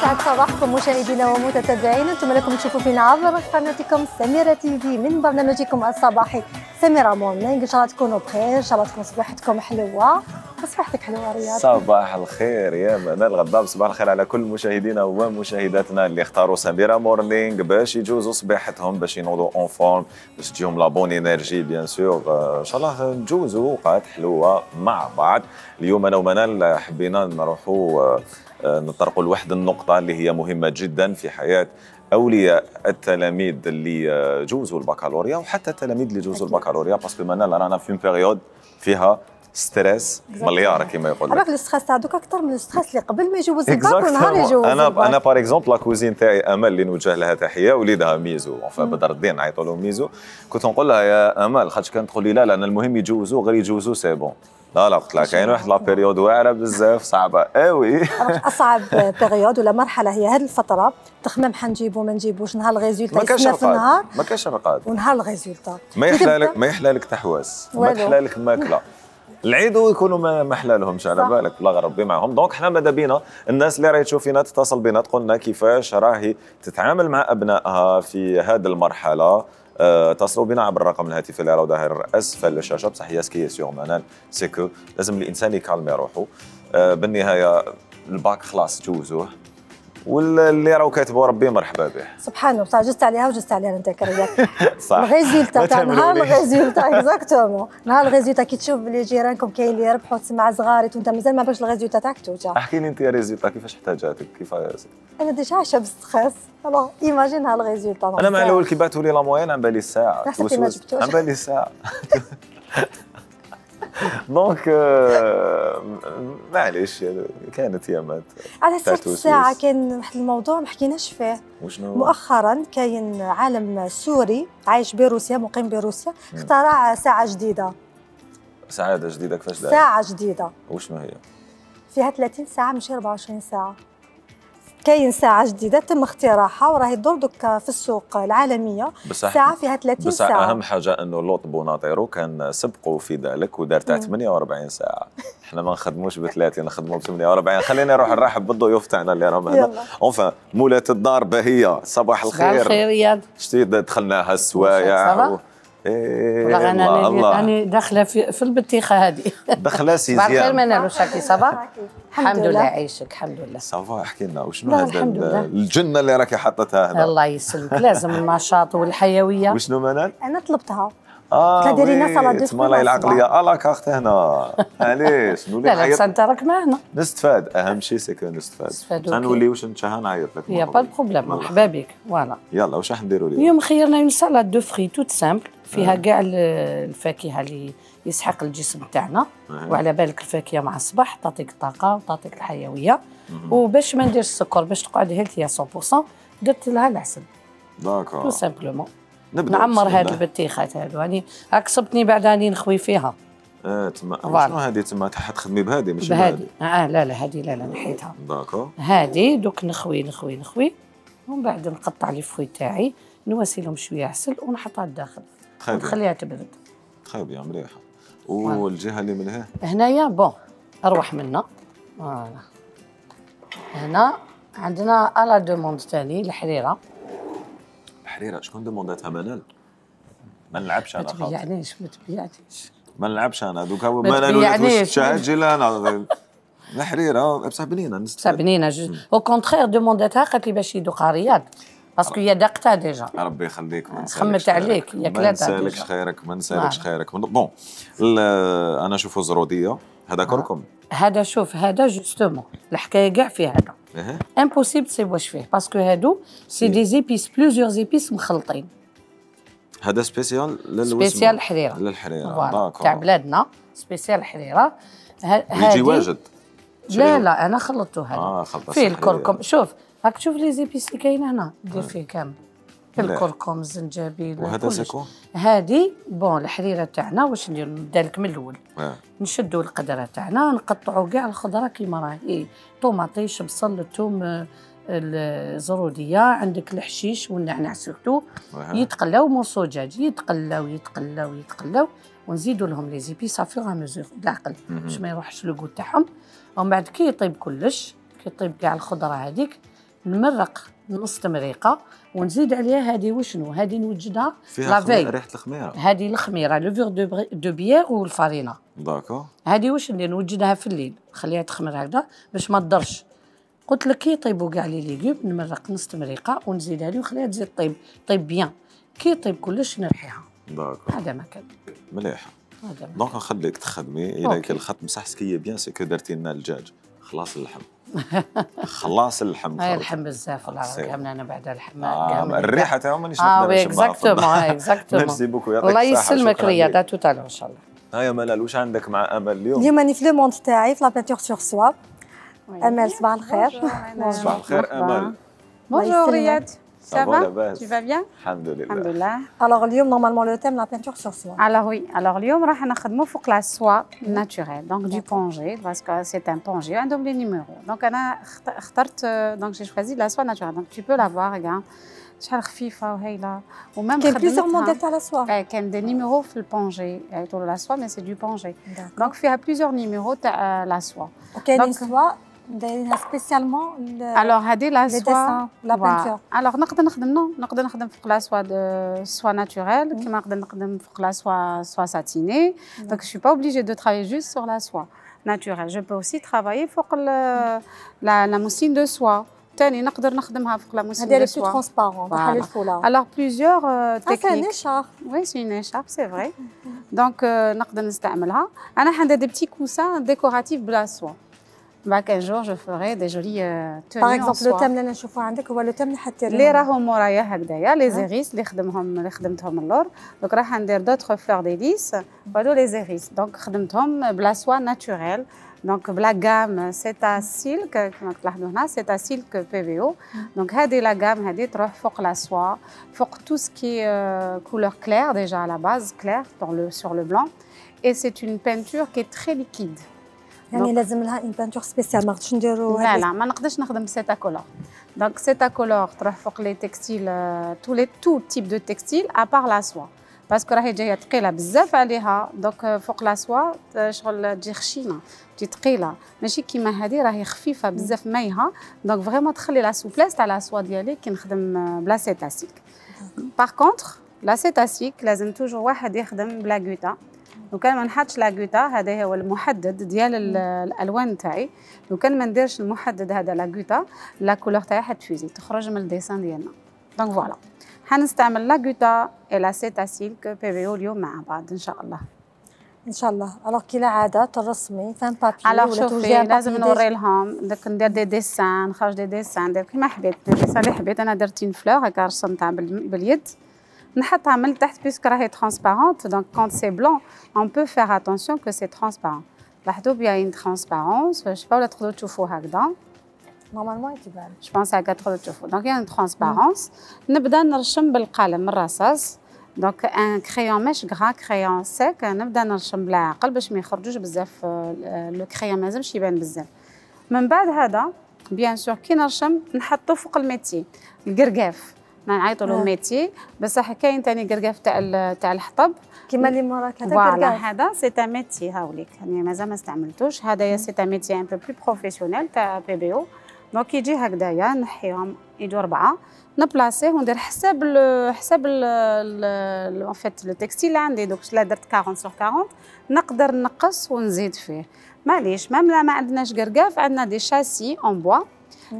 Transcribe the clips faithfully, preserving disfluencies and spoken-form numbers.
يسعد صباحكم مشاهدينا ومتتبعينا، انتم لكم تشوفوا فينا عبر قناتكم سميرة تي في من برنامجكم الصباحي سميرة مورنينغ. ان شاء الله تكونوا بخير، ان شاء الله تكون صباحتكم حلوه. صباحتك حلوه رياض. صباح الخير يا منال غضاب، صباح الخير على كل مشاهدينا ومشاهداتنا اللي اختاروا سميرة مورنينغ باش يجوزوا صباحتهم، باش ينوضوا اون فورم، باش تجيهم لا بون انرجي بيان سور. ان شاء الله نجوزوا اوقات حلوه مع بعض. اليوم انا ومنال حبينا نروحوا نطرقوا لواحد النقطه اللي هي مهمه جدا في حياه اولياء التلاميذ اللي جوزوا البكالوريا وحتى التلاميذ اللي جوزوا البكالوريا، باسكو منال رانا في بيريود فيها ستريس مليار كما يقول لك. عرف الستريس تاع دوك اكثر من الستريس اللي قبل ما يجوز الباك ونهار يجوز. انا انا باغ اكزومبل لا كوزين تاعي امل اللي نوجه لها تحيه، وليدها ميزو، اونفا بدر الدين نعيطوا له ميزو، كنت نقول لها يا امل خاطش كانت تقول لي لا لا انا المهم يجوزوا، غير يجوزوا سي بون. لا لا قلت لها كاين واحد لا بيريود واعره بزاف صعبه قوي. اصعب بيريود ولا مرحله هي هذه الفتره، تخمم حنجيبو ما نجيبوش، نهار الريزولتا يسنى في النهار، ما كاش رقاد، ونهار الريزولتا ما يحلى لك ما يحلى لك تحواس، ما تحلى لك الماكله. العيد ويكونوا ما ما حلالهمش على بالك، الله غير ربي معهم. دونك حنا ماذا بينا الناس اللي راهي تشوف فينا تتصل بنا تقول لنا كيفاش راهي تتعامل مع ابنائها في هذه المرحله. أه اتصلوا بنا عبر الرقم الهاتفي اللي راه ظاهر اسفل الشاشه. بصح هي سكي سيغ منال سي كو لازم الانسان يكالمي روحه. أه بالنهايه الباك خلاص جوزوه، واللي راهو كاتبه ربي مرحبا به. سبحانه وتعالى جزت عليها وجزت عليها انت كريات. صح. الريزولتا تاع نهار الريزولتا اكزاكتومون، نهار الريزولتا كي تشوف بلي جيرانكم كاين اللي يربحوا تسمع صغاري وانت مازال ما باش الريزولتا تاعك توجع. احكي لي انت يا ريزولتا كيفاش احتاجاتك كيف؟ انا ديجا عايشه بالستريس، الوغ ايماجين ها الريزولتا. انا مع الاول كي بعثوا لي لا موين عن بالي الساعه، عن بالي الساعه. دونك معليش كانت يامات. على سيرة الساعة كاين واحد الموضوع ما حكيناش فيه. وشنو؟ مؤخرا كاين عالم سوري عايش بروسيا، مقيم بروسيا، اخترع ساعة جديدة. ساعة جديدة كيفاش داير؟ ساعة جديدة. وشنو هي؟ فيها ثلاثين ساعة ماشي أربعة وعشرين ساعة. كاين ساعة جديدة تم اختراعها وراهي تدور دوكا في السوق العالمية، ساعة فيها ثلاثين ساعة. بس أهم حاجة أنه لوط بوناطيرو كان سبقوا في ذلك ودار تاع ثمانية وأربعين ساعة. احنا ما نخدموش ب ثلاثين، نخدموا ب ثمانية وأربعين. خلينا نروح نرحب بالضيوف تاعنا اللي راهم هنا. اونفا مولات الدار باهية، صباح الخير. صباح الخير رياض. شتي دخلناها السوايع و... إيه انا راني داخله في, في البطيخه هذه. داخله سيزيام. صباح الخير منال، واش راكي صباح؟ الحمد لله يعيشك. الحمد لله. صافا احكي لنا وشنو هذا الجنه اللي راكي حاطتها هنا؟ الله يسلمك، لازم النشاط والحيويه. وشنو منال؟ انا طلبتها. اه ديري لنا صلاه دو تما لاي العقليه الا كارت هنا. علاش نولي لا لا انت راك معنا نستفاد، اهم شيء سي كو نستفاد. نولي واش نتشهى نعيط لك. يا با بروبليم، مرحبا بك. فوالا يلا واش راح نديروا اليوم؟ اليوم خيرنا اون سالاد دو فري توت سامبل، فيها كاع الفاكهه اللي يسحق الجسم تاعنا، وعلى بالك الفاكهه مع الصباح تعطيك الطاقه وتعطيك الحيويه. وباش ما نديرش السكر باش تقعد هيلثي مية بالمية درت لها العسل. داكور. تو سامبلومون. نعمر هاد البطيخات هادو، يعني هاك صبتني بعد راني نخوي فيها. اه تما شنو هادي تما تخدمي بهادي ماشي بهادي؟ اه لا لا هادي لا لا نحيتها. داكور. هادي دوك نخوي نخوي نخوي ومن بعد نقطع لي فوي تاعي، نواسي لهم شويه عسل ونحطها لداخل ونخليها تبرد. تخي بيان مليحه. والجهه اللي من هنا هنايا بون اروح منا. فوالا هنا عندنا الا دوموند ثاني الحريره. الحريره شكون دومونداتها منال؟ ما نلعبش انا خاطر. ما تبيعنيش ما تبيعنيش ما نلعبش انا دوكا منال ولات واش تشاهد جي انا الحريره بصح بنينه بصح بنينه. او كونتخير دومونداتها قالت لي باش يدوقها رياض باسكو هي داقتها ديجا. ربي يخليك ما نسالكش. خمت عليك يا كلاتها. ما نسالكش خيرك ما نسالكش خيرك. بون انا نشوفوا زروديه هذا كركم. هذا شوف هذا جوستومون الحكايه كاع فيه هذا. امبوسيبل تسيب واش فيه باسكو هادو سي دي زيبيس بلوزيور زيبيس مخلطين. هذا سبيسيال للوسم. سبيسيال الحريره. للحريره داكور. تاع بلادنا سبيسيال الحريره. يجي واجد. لا لا انا خلطته هذا. اه خلطته فيه الكركم. شوف راك تشوف لي زيبيس اللي كاينه هنا دير فيه كامل. الكركم الزنجبيل. وهذا سكو؟ هذه بون الحريره تاعنا واش ندير؟ نبدا لك من الاول. آه. نشدوا القدره تاعنا نقطعوا كاع الخضره كيما راهي، طوماطيش بصل الثوم الزروديه، عندك الحشيش والنعناع سورتو، يتقلاو مورسو دجاج، يتقلاو يتقلاو يتقلاو ونزيدوا لهم لي زيبيس افور ا ميزور بالعقل باش ما يروحش لو غو تاعهم. ومن بعد كي يطيب كلش، كي يطيب كاع الخضره هذيك نمرق نص تمريقه ونزيد عليها هذه وشنو هذه نوجدها فيها لافي ريحه الخميره. هذه الخميره لو فيغ دو دو بيير والفارينه. داكور. هذه واش ندير نوجدها في الليل نخليها تخمر هكذا باش ما تضرش. قلت لك كي يطيبوا كاع لي ليغوم نمرق نص تمريقه ونزيدها لي ونخليها تزيد طيب طيب بيان كي يطيب كلش نرحيها. داكور. هذا ما كان مليح. دونك نخليك تخدمي الى الخط مسحسكيه بيان سي كو درتي لنا الدجاج خلاص اللحم. خلاص اللحم. هاي اللحم بزاف والله كامل انا بعد اللحم. آه الريحه تاعو مانيش نقدر نشمها. اه اكزاكتومون اكزاكتومون. ميرسي بوكو يعطيك الصحه. الله يسلمك رياض تو تالو ان شاء الله. هيا ملال واش عندك مع امل اليوم؟ اليوم راني في لو موند تاعي في لا بانتور سور سوا. امل صباح الخير. صباح الخير امل. بونجور رياض. Ça va? Tu vas bien? Alhamdulillah. Alhamdulillah. Alors, اليوم normalement le thème la peinture sur soie. Alors oui, alors اليوم راح نخدموا فوق la soie naturelle, donc du pongé, parce que c'est un pongé, un double numéro. Donc انا اخترت donc j'ai choisi la soie naturelle. Donc tu peux la voir, regarde. شحال خفيفه وهايله ومام كاين بليزيور موديل تاع لا سوا. كاين دي نيميرو في البونجي يعيطوا لا سوا مي سي دو بونجي. دونك فيها بليزيور نيميرو تاع لا سوا. وكاين سوا دايرينها سبيسيالمون. الوغ هذه لا سوا لا بانتور. الوغ نقدر نخدم نو نقدر نخدم فوق لا سوا دو سوا ناتوريل كيما نقدر نخدم فوق لا سوا سوا ساتيني. دونك جو با اوبليجي دو ترافايي جوست سور لا سوا ناتوريل. جو بو اوسي ترافايي فوق لا لا موسين دو سوا. تاني نقدر نخدمها فوق لا موسين دو سوا. هذه بلو ترونسبارون بحال الفوله. الوغ بليزيور تكنيك. سي ان اشارب. وي سي ان اشارب سي فري. دونك نقدر نستعملها. انا حندير دي بتي كوسان ديكوراتيف بلا سوا. بعد كان جور جو فوري دي جولي توني. باغ اكزومبل لو تام اللي انا نشوفه عندك هو لو تام اللي حدير اللي راهم مورايا هكذايا لي زيغيس اللي خدمهم اللي خدمتهم اللور. دونك راح ندير دوطخ فلور ديليس وهادو لي زيغيس. دونك خدمتهم بلا سوا ناتوريل. دونك بلا غام سيتا سيلك كما تلاحظوا هنا سيتا سيلك بي في او. دونك هذه لا غام هذه تروح فوق لا سوا فوق تو سكي كولور كلير ديجا على باز كلير دون لو سور لو بلان. اي سي اون بينتور كي تري ليكيد. يعني لازم لها اون بانتور سبيسيال ما نقدرش نديرو. لا لا ما نقدرش نخدم سيتا كولور. دونك سيتا كولور تروح فوق لي تكستيل تو لي تو تيب دو تكستيل ابار لا سوا باسكو راهي جايه ثقيله بزاف عليها. دونك فوق لا سوا شغل تجي خشينه تجي ثقيله ماشي كيما هذه راهي خفيفه بزاف مايها. دونك فريمون تخلي لا سوبليس تاع لا سوا ديالي كي نخدم بلا سيتا سيلك. باغ كونطخ لا سيتا سيلك لازم توجور واحد يخدم بلا غوتا. لو كان ما نحطش لا غوتا هذا هو المحدد ديال الالوان تاعي. لو كان ما نديرش المحدد هذا لا غوتا لا كولور تاعي حتفوزي تخرج من الديسان ديالنا. دونك فوالا حنستعمل لا غوتا اي لا سيتا سيلك بي في او اليوم مع بعض ان شاء الله. ان شاء الله. الوغ كي العاده ترسمي فان بابي ولا شوفي لازم نوري لهم داك ندير دي ديسان نخرج دي ديسان ندير كيما حبيت الديسان اللي حبيت. انا درت اون فلور هكا رسمتها باليد نحطها من تحت بيسك راهي ترانسبارونت. دونك كونت سي بلون اون بو فير اتونسيون كو سي ترانسبارون. لاحظوا بيان اون ترانسبارونس جو با ولا تقدروا تشوفوا هكذا نورمالمون تبان جو بونس هكا تقدروا تشوفوا. دونك يعني ترانسبارونس نبدا نرشم بالقلم الرصاص. دونك ان كريون ماش غرا كريون سيك نبدا نرشم بالعقل باش ما يخرجوش بزاف لو كريون ما لازمش يبان بزاف. من بعد هذا بيان سور كي نرشم نحطو فوق الميتي القرقاف نعيطوا له ميتي بصح كاين ثاني قرقاف تاع تاع الحطب كيما اللي موراك هذا قرقاف. هذا سي تاع ميتي هاوليك يعني مازال ما استعملتوش. هذايا سي تاع ميتي ان بو بلو بروفيسيونيل تاع بي بي او. دونك يجي هكذايا نحيهم يجوا اربعه نبلاصيه وندير حساب ال حساب ان فيت لو تكستيل اللي عندي. دوك لا درت أربعين سور أربعين نقدر نقص ونزيد فيه معليش. مام لا ما عندناش قرقاف عندنا دي شاسي اون بوا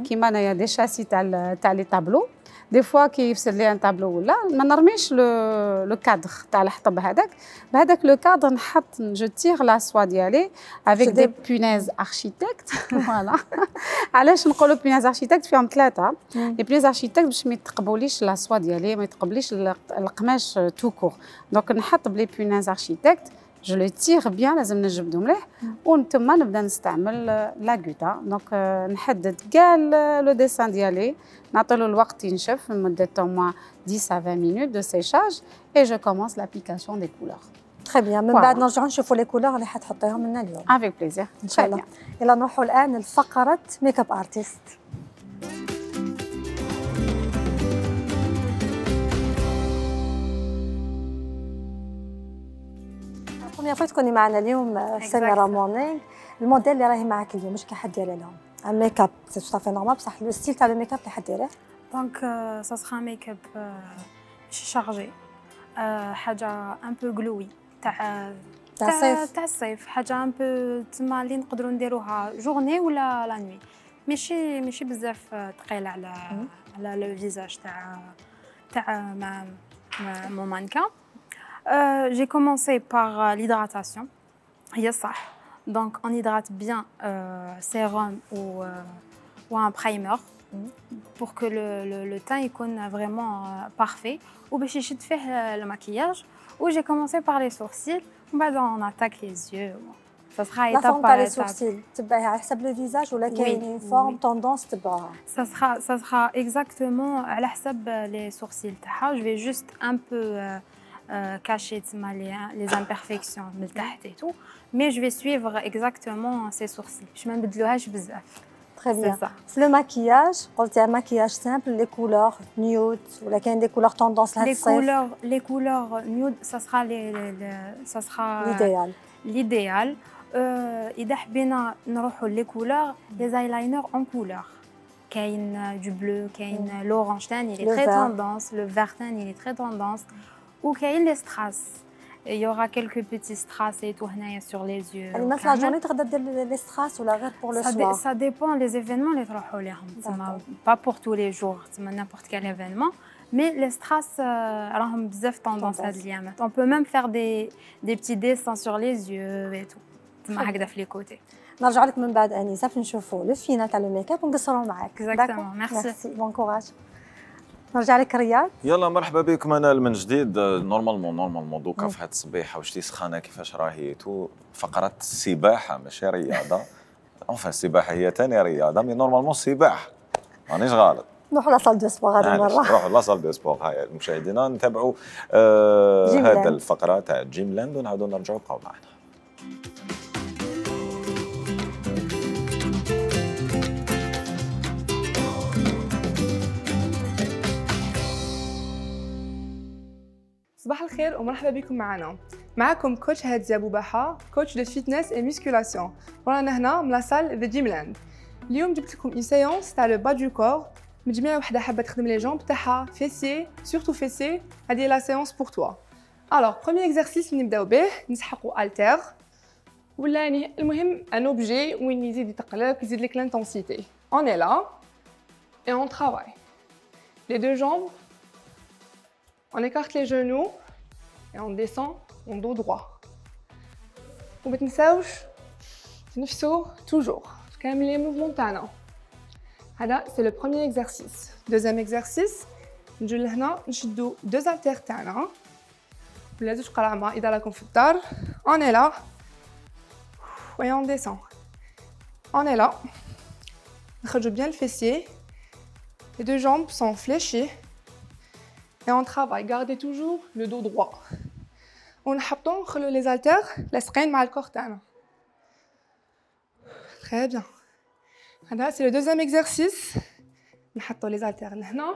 كيما انايا دي شاسي تاع تاع لي طابلو. دي فوا كي يفسد لي ان طابلو ولا ما نرميش لو لو كادر تاع الحطب هذاك بهذاك لو كادر نحط جو تيغ لا سوا ديالي افيك دي بونيز اركيتكت. فوالا علاش نقولوا بونيز اركيتكت فيهم ثلاثه. لي بونيز اركيتكت باش ما يتقبوليش لا سوا ديالي ما يتقبليش القماش تو كور. دونك نحط بلي بونيز اركيتكت جو لو تيغ بيان لازم نجبدو مليح ونتم نبدا نستعمل لا غوتا. دونك نحدد كاع لو ديسان ديالي نعطيلو الوقت ينشف لمده au moins dix à vingt minutes de séchage et je commence l'application des couleurs. تري بيان. من بعد نرجعوا نشوفوا لي كولور اللي حتحطيهم لنا اليوم. افيك بليزير ان شاء الله. يلا نروحوا الان لفقره ميك اب ارتست. بروميير فوا تكوني معنا اليوم سميرة مورنينغ. الموديل اللي راهي معك اليوم واش كي حديري لهم؟ Un make-up, c'est tout à fait normal, بصح le style تاع le make-up اللي حديريه. Donc euh, ça sera un make-up euh, chargé. Euh, حاجة un peu glowy تاع تاع الصيف. تاع الصيف، حاجة un peu تما اللي نقدروا نديروها جورني ولا لا نوي. ماشي ماشي بزاف ثقيلة على على لو فيزاج تاع تاع ما mon mannequin. Euh, j'ai commencé par euh, l'hydratation. هي صح. Donc on hydrate bien euh, sérum ou euh, ou un primer pour que le le, le teint يكون vraiment euh, parfait وباش يشد فيه le maquillage. Ou j'ai commencé par les sourcils. بعد on attaque les yeux. Ça sera la étape forme par تاع les étape. sourcils تبعها على حسب le visage ولا Oui, كاين oui. forme tendance تبعها. Ça sera ça sera exactement على حسب les sourcils تاعها. Je vais juste un peu euh, euh, cacher تما les les imperfections من تحت et tout. Mais je vais suivre exactement ces sourcils. باش ما نبدلوهاش بزاف. Très bien. C'est ça. في le maquillage قلتي un maquillage simple les couleurs nude ولا كاين des couleurs tendance لهاد Les الصيف. couleurs les couleurs nude ça sera les, les, les ça sera l'idéal. l'idéal. Euh, إذا حبينا نروحوا les couleurs les eyeliners en couleur. كاين du bleu, كاين l'orange تاني il est Le très vert. tendance, le vert تاني il est très tendance. Ou كاين les strass. Il y aura quelques petits strass et tout هنايا sur les yeux. يعني مثلا جوني تقدر دير لي ستراس ولا غير pour le Ça, dé- soir. ça dépend les événements les تروحوا ليهم. تسمى D'accord. pas pour tous les jours, تسمى n'importe quel événement. Mais les strass euh, راهم بزاف tendance هاد الأيامات. On peut même faire des des petits dessins sur les yeux et tout. تسمى هكذا في les côtés. نرجع لك من بعد انيسه باش نشوفوا لو فينال تاع لو ميك اب ونقصروا معاك. Exactement. Merci. ميرسي بون كوراج. نرجع لك رياض. يلا مرحبا بكم منال من جديد. نورمالمون نورمالمون دوكا في هاد الصبيحه وشتي سخانه كيفاش راهي تو فقره السباحه ماشي رياضه. اونفا السباحه هي ثاني رياضه مي نورمالمون السباحه مانيش غلط. نروحوا لا دو سبور هذه المره. نروحوا لاصال دو سبور. هاي مشاهدينا نتابعوا آه هذا الفقره تاع جيم لاند ونعاودوا نرجعوا بقاو معنا. صباح الخير ومرحبا بكم معنا. معكم كوتش هادزة بوباحة، كوتش دو فيتنس اي ميسكولاسيون. ورانا هنا من لاصال ذا جيم لاند. اليوم جبت لكم اون سيونس تاع لو با دو كور. مجموعة وحدة حابة تخدم لي جامب تاعها فيسي، سورتو فيسي. هذه لا سيونس بور توا. الوغ بروميير اكزرسيس اللي نبداو به نسحقوا التير. ولا يعني المهم ان اوبجي وين يزيد يتقلب يزيد لك لانتونسيتي. اون اي لا et on travaille. Les deux jambes. On écarte les genoux et on descend en dos droit. وما تنساوش تنفسوا toujours. كامل les mouvements تاعنا. هذا c'est le premier exercice. Deuxième exercice نجيو لهنا نشدوا deux haltères تاعنا ولا زوج قرعمة إذا راكم في الدار. On est là et on descend. On est là. نخرجوا bien le fessier. Les deux jambes sont fléchées. Et on travaille, gardez toujours le dos droit. On نحطو les haltères لاصقين مع الكور تاعنا. Très bien. هذا c'est le deuxième exercice. نحطو les haltères لهنا.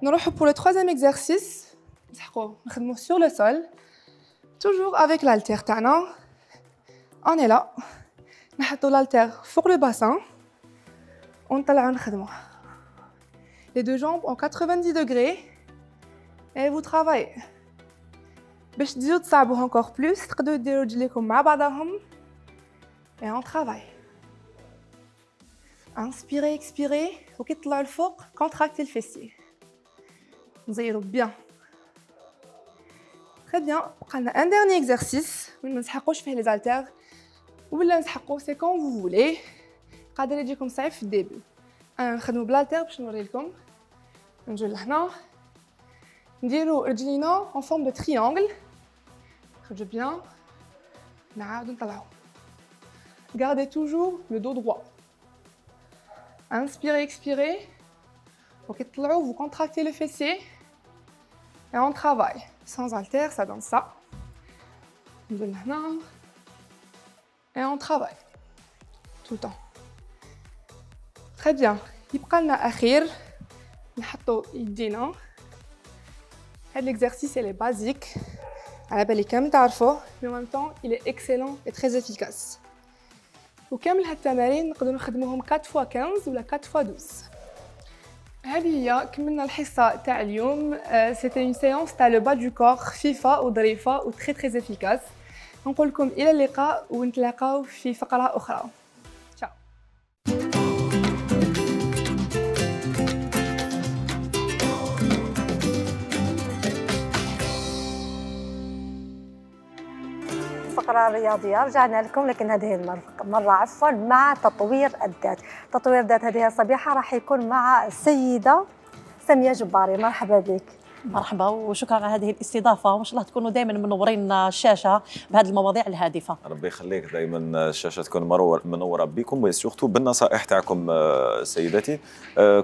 نروحو pour le troisième exercice. نسحقو نخدمو sur le sol. Toujours avec l'haltère تاعنا. On est là. نحطو l'haltère فوق le bassin. ونطلعو نخدمو. Les deux jambes en quatre-vingt-dix degrés. Et vous travaillez. باش تزيدو تصعبوها encore plus تقدروا ديروا رجليكم مع بعضهم. Et on travaille. Inspirez, expirez. وكي تطلعوا الفوق contractez le fessier. نزيروا bien. Très bien. بقى لنا un dernier exercice وين ما نسحقوش فيه les haltères ولا نسحقو c'est quand vous voulez. قادر يجيكم صعيب في الديبي. انا نخدمو بالالتير باش نوري لكم. نجيو لهنا نديرو رجلينا en forme de triangle. نخرجو bien. نعاودو نطلعو. Gardez toujours le dos droit. Inspirez, expirez. وكي تطلعو vous contractez le fessier. Et on travaille. Sans haltère, ça donne ça. نجيو لهنا. Et on travaille. Tout le temps. Très bien. يبقى لنا أخير نحطو يدينا. هاد l'exercice il est basique. على بالي كامل تعرفوه. Mais en même temps, il est excellent et très efficace. وكامل هالتمارين نقدروا نخدموهم أربعة فوا خمسة ولا أربعة فوا اثناش. هذه هي كملنا الحصه تاع اليوم. سيتي اون سيونس تاع لو با دو كور خفيفه وظريفه و تري تري افيكاس. نقول لكم الى اللقاء ونتلاقاو في فقره اخرى. تشاو. الفقرة الرياضية رجعنا لكم، لكن هذه المرة عفوا مع تطوير الذات. تطوير الذات هذه الصبيحة راح يكون مع السيدة سامية جباري. مرحبا بك. مرحبا وشكرا على هذه الاستضافة، وإن شاء الله تكونوا دائما منورين الشاشة بهذه المواضيع الهادفة. ربي يخليك، دائما الشاشة تكون منورة بكم وسورتو بالنصائح تاعكم سيداتي.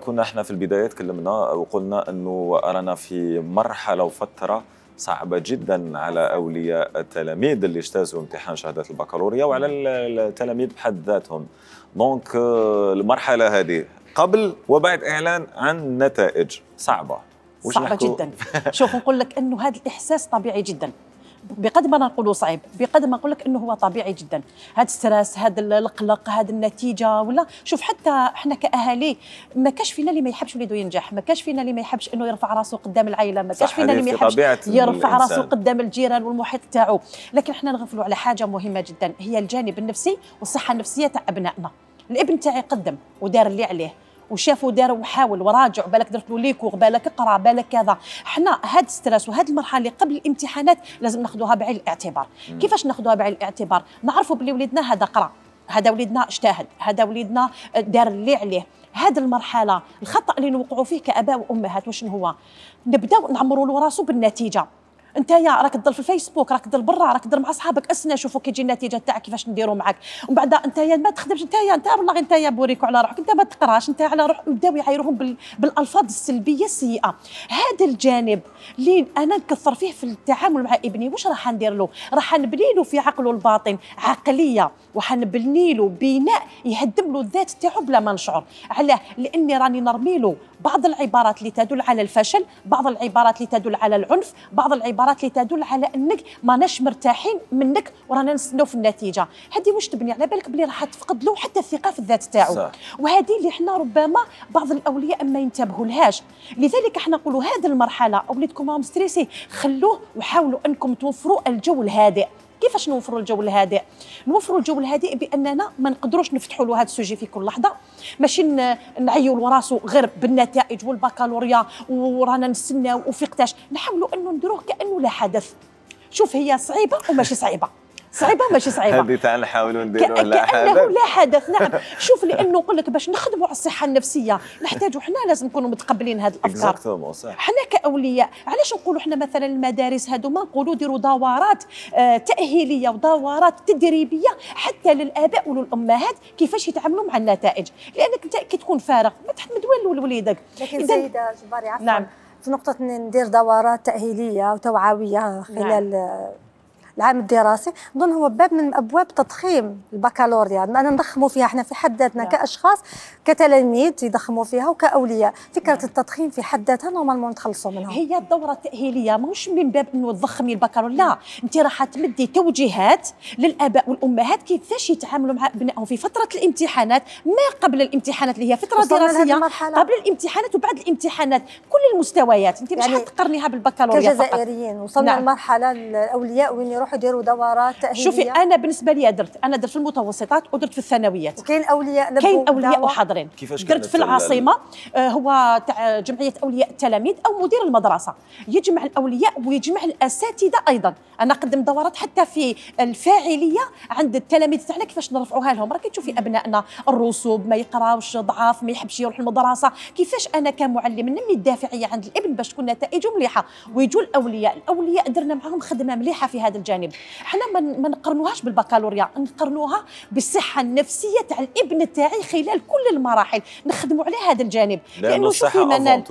كنا احنا في البداية تكلمنا وقلنا أنه رانا في مرحلة وفترة صعبة جدا على أولياء التلاميذ اللي اجتازوا امتحان شهادة البكالوريا وعلى التلاميذ بحد ذاتهم. دونك المرحلة هذه قبل وبعد إعلان عن نتائج صعبة. صعبة جدا. شوف نقول لك أنه هذا الإحساس طبيعي جدا، بقدر ما نقولوا صعيب بقدر ما نقول لك انه هو طبيعي جدا. هذا الستريس، هذا القلق، هذه النتيجه، ولا شوف حتى احنا كاهالي ما كاش فينا اللي ما يحبش وليده ينجح، ما كاش فينا اللي ما يحبش انه يرفع راسه قدام العائله، ما كاش فينا اللي ما يحبش يرفع راسه قدام الجيران والمحيط تاعو. لكن احنا نغفلوا على حاجه مهمه جدا، هي الجانب النفسي والصحه النفسيه تاع ابنائنا. الابن تاعي قدم ودار اللي عليه وشافوا دار وحاول وراجع، بالك درت له ليكور، بالك اقرا، بالك كذا. حنا هاد الستريس وهاد المرحله اللي قبل الامتحانات لازم ناخذوها بعين الاعتبار. مم. كيفاش ناخذوها بعين الاعتبار؟ نعرفوا بلي وليدنا هذا قرا، هذا وليدنا اجتهد، هذا وليدنا دار اللي عليه. هذه المرحله الخطا اللي نوقعوا فيه كاباء وامهات واش هو؟ نبداو نعمروا له راسو بالنتيجه. انت يا راك تضل في الفيسبوك، راك تضل برا، راك تضل مع اصحابك، اسنا شوفوا كي تجي النتيجه تاعك كيفاش نديروا معك. ومن بعد انت يا ما تخدمش، انت يا انت والله انت يا بوريكو على روحك، انت ما تقراش، انت على روح. يبداو يعايروهم بال... بالالفاظ السلبيه السيئه. هذا الجانب اللي انا نكثر فيه في التعامل مع ابني. واش راح ندير له؟ راح نبني له في عقله الباطن عقليه، وحنبني له بناء يهدم له الذات تاعو بلا ما نشعر. علاه؟ لاني راني نرمي له بعض العبارات اللي تدل على الفشل، بعض العبارات اللي تدل على العنف، بعض العبارات اللي تدل على انك ماناش مرتاحين منك ورانا نستناو في النتيجه. هذه واش تبني؟ على بالك بلي راح تفقد له حتى الثقه في الذات تاعو. وهذه اللي حنا ربما بعض الاولياء ما ينتبهوا لهاش. لذلك احنا نقولوا هذه المرحله اوليدكم راهم ستريسي، خلوه وحاولوا انكم توفروا الجو الهادئ. كيفاش نوفروا الجو الهادئ؟ نوفروا الجو الهادئ باننا ما نقدروش نفتحوا له هذا السوجي في كل لحظه، ماشي نعيوا لراسو غير بالنتائج والبكالوريا ورانا نستناو وفيقتاش. نحاولوا انه نديروه كانه لا حدث. شوف هي صعيبه وماشي صعيبه، صعيبه ماشي صعيبه، هذه تاع نحاولوا نديروه لا حدث كأنه لا حدث. نعم. شوف لانه نقول لك باش نخدموا على الصحه النفسيه نحتاجوا حنا لازم نكونوا متقبلين هذه الافكار. حنا كاولياء علاش نقولوا حنا مثلا المدارس هذوما نقولوا ديروا دورات آه تاهيليه ودورات تدريبيه حتى للاباء وللامهات كيفاش يتعاملوا مع النتائج، لانك انت كي تكون فارغ ما تحمد والو لوليدك. لكن سيده جباري عفوا، نعم، في نقطه ندير دورات تاهيليه وتوعويه خلال نعم. العام الدراسي، نظن هو باب من ابواب تضخيم البكالوريا، اننا نضخموا فيها احنا في حد ذاتنا كاشخاص كتلاميذ يضخموا فيها وكاولياء. فكره التضخيم في حد ذاتها نورمالمون نتخلصوا منها. هي الدوره التاهيليه ماهوش من باب انه تضخمي البكالوريا، لا، انت راح تمدي توجيهات للاباء والامهات كيفاش يتعاملوا مع ابنائهم في فتره الامتحانات، ما قبل الامتحانات اللي هي فتره دراسيه، قبل الامتحانات وبعد الامتحانات، كل المستويات. انت مش يعني حتقارنيها بالبكالوريا فقط. كجزائريين وصلنا نعم. لمرحله الاولياء وين يروحوا يديروا دورات تاهيليه. شوفي انا بالنسبه لي درت انا درت في المتوسطات ودرت في الثانويات. وكاين اولياء كاين اولياء وحاضرين. درت في العاصمه آه هو تاع جمعيه اولياء التلاميذ او مدير المدرسه، يجمع الاولياء ويجمع الاساتذه ايضا. انا قدم دورات حتى في الفاعليه عند التلاميذ تاعنا كيفاش نرفعوها لهم. راكي تشوفي ابنائنا الرسوب ما يقراوش، ضعاف، ما يحبش يروح المدرسه، كيفاش انا كمعلم نمي الدافعيه عند الابن باش تكون نتائجه مليحه. ويجوا الاولياء الاولياء درنا معهم خدمه مليحه في هذا الجانب. حنا ما نقرنوهاش بالبكالوريا، نقرنوها بالصحه النفسيه تاع الابن تاعي خلال كل المراحل، نخدموا على هذا الجانب. لانه شوفي منال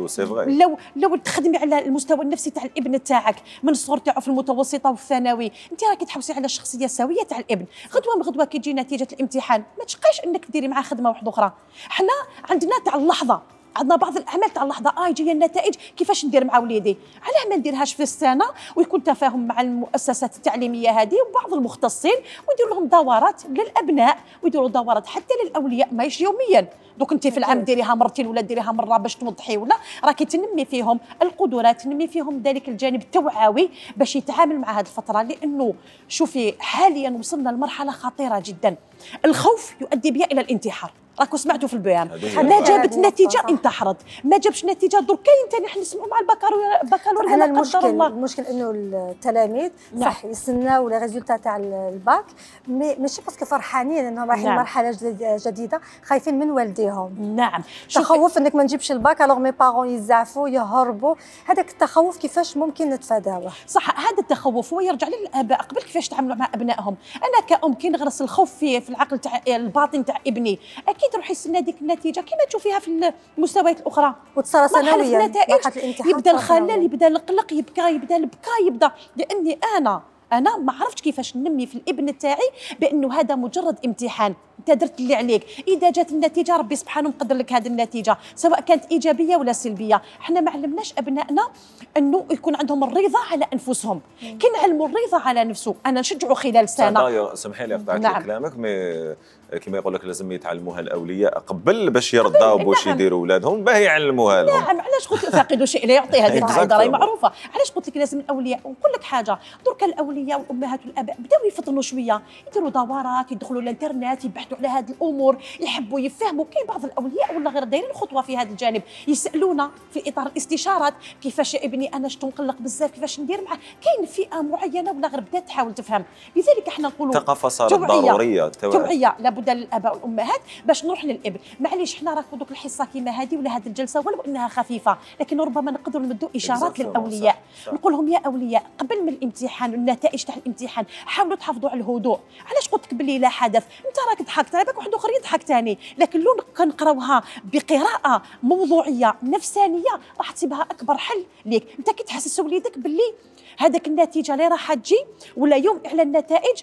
لو لو تخدمي على المستوى النفسي تاع الابن تاعك من الصغر تاعو في المتوسطه والثانوي، انت راكي تحوسي على الشخصيه السويه تاع الابن. غدوه من غدوه كي تجي نتيجه الامتحان ما تشقايش انك ديري معاه خدمه واحده اخرى. حنا عندنا تاع اللحظه، عندنا بعض الاعمال تاع اللحظه اه جايه النتائج كيفاش ندير مع وليدي، علاه ما نديرهاش في السنه ويكون تفاهم مع المؤسسات التعليميه هذه وبعض المختصين ويديروا لهم دورات للابناء ويديروا دورات حتى للاولياء ماهيش يوميا. دوك انت في العام ديريها مرتين ولا ديريها مره باش توضحي ولا راكي تنمي فيهم القدرات، تنمي فيهم ذلك الجانب التوعوي باش يتعامل مع هذه الفتره. لانه شوفي حاليا وصلنا لمرحله خطيره جدا، الخوف يؤدي بها الى الانتحار، راكم سمعتوا في البيان ما جابت نتيجه انتحرت، ما جابش نتيجه درك كاين ثاني حنا نسمعوا مع البكالوريا البكالوريا هنا المشكل الله. المشكل انه التلاميذ نعم. صح يستناو لي ريزولتا تاع الباك مي ماشي باسكو فرحانين انهم رايحين نعم. مرحله جديده، خايفين من والديهم. نعم تخوف انك ما نجيبش الباك الوغ مي بارون يزعفوا يهربوا، هذاك التخوف كيفاش ممكن نتفاداوه؟ صح هذا التخوف هو يرجع للاباء قبل كيفاش تعاملوا مع ابنائهم. انا كأم كي نغرس الخوف في في العقل تاع الباطن تاع ابني اكيد راح يستنى ديك النتيجه كما تشوفيها في المستويات الاخرى وتصير سنويا النتائج يبدا الخلل يبدا القلق يبكى يبدا البكاء يبدا. لاني انا انا ما عرفتش كيفاش ننمي في الابن تاعي بانه هذا مجرد امتحان، انت درت اللي عليك، اذا جات النتيجه ربي سبحانه مقدر لك هذه النتيجه سواء كانت ايجابيه ولا سلبيه. احنا ما علمناش ابنائنا انه يكون عندهم الرضا على انفسهم، كي نعلموا الرضا على نفسه انا نشجعه خلال سنه. سمحي لي قطعت نعم. كلامك مي كما يقول لك لازم يتعلموها الاولياء قبل باش يرضاو باش نعم. يديروا اولادهم باه يعلموها لهم. نعم علاش قلت فاقد شيء لا يعطي، هذه القاعده راهي معروفه. علاش قلت لك لازم الاولياء ونقول لك حاجه، درك الاولياء والامهات والاباء بداو يفطنوا شويه، يديروا دورات، يدخلوا الانترنت، يبحثوا على هذه الامور، يحبوا يفهموا. كاين بعض الاولياء ولا غير دايرين خطوه في هذا الجانب، يسالونا في اطار الاستشارات كيفاش يا ابني انا شتو نقلق بزاف كيفاش ندير معاه. كاين فئه معينه ولا غير بدات تحاول تفهم، لذلك احنا نقولوا الثقافه صارت ضروريه، توعيه لابد للاباء والامهات باش نروح للابن. معليش حنا راكو دوك الحصه كيما هذه ولا هذه الجلسه ولو انها خفيفه لكن ربما نقدروا نمدوا اشارات للاولياء، نقول لهم يا اولياء قبل من الامتحان والنتائج تاع الامتحان حاولوا تحافظوا على الهدوء. علاش قلت لك باللي لا حدث، انت راك ضحكت على بالك واحد اخر يضحك ثاني، لكن لو كنقراوها بقراءه موضوعيه نفسانيه راح تصيبها اكبر حل ليك. انت كي تحسس وليدك باللي هذاك النتيجه اللي راح تجي ولا يوم اعلان النتائج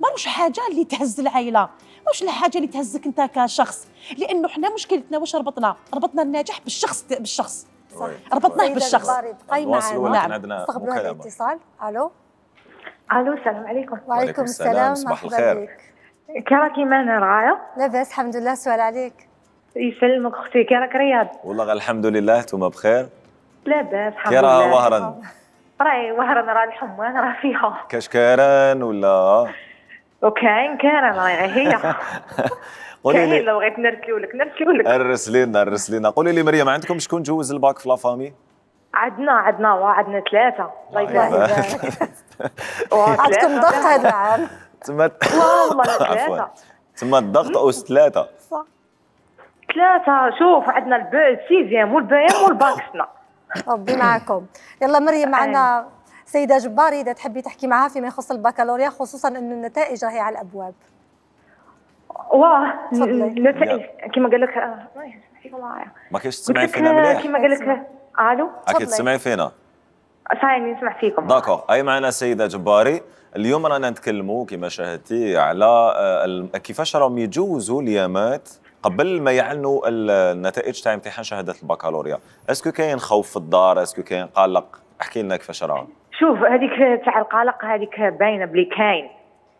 ماروش حاجه اللي تهز العائله، ماروش الحاجه اللي تهزك انت كشخص، لانه حنا مشكلتنا واش ربطنا؟ ربطنا النجاح بالشخص بالشخص ربطناه بالشخص. بقاي معنا نعم. نستقبلوا هذا الاتصال. الو الو السلام عليكم. وعليكم السلام. صباح الخير. كي راكي معنا رعاية؟ لاباس الحمد لله. السؤال عليك. يسلمك اختي، كي راك رياض؟ والله الحمد لله. نتوما بخير؟ لاباس الحمد لله. كي راه وهران؟ راهي وهران راه الحمى راه فيها كاشكاران ولا؟ وكاين كاران راهي هي. قولي لي لو بغيت نرسلو لك نرسلو لك. ارس لينا ارس لينا. قولي لي مريم، عندكم شكون جوز الباك في لافامي؟ عندنا عندنا وعندنا ثلاثة. الله يبارك. عندكم ضغط هذا العام؟ تما والله ثلاثة. تما الضغط أوس ثلاثة. صح. ثلاثة. شوف عندنا البي السيزيام والبيام والباكسنا. ربي معكم. يلا مريم معنا سيدة جباري إذا تحبي تحكي معها فيما يخص البكالوريا، خصوصا أنه النتائج راهي على الأبواب. واه النتائج كما قال لك ما كاينش تسمعي فينا مليح. كما قال لك الو اكيد تسمعي فينا. صايني نسمع فيكم. داكور. اي معنا سيدة جباري. اليوم رانا نتكلموا كما شاهدتي على كيفاش راهم يجوزوا اليامات قبل ما يعلنوا النتائج تاع امتحان شهاده البكالوريا. اسكو كاين خوف في الدار؟ اسكو كاين قلق؟ احكي لنا كيفاش راه. شوف هذيك تاع القلق هذيك باينه بلي كاين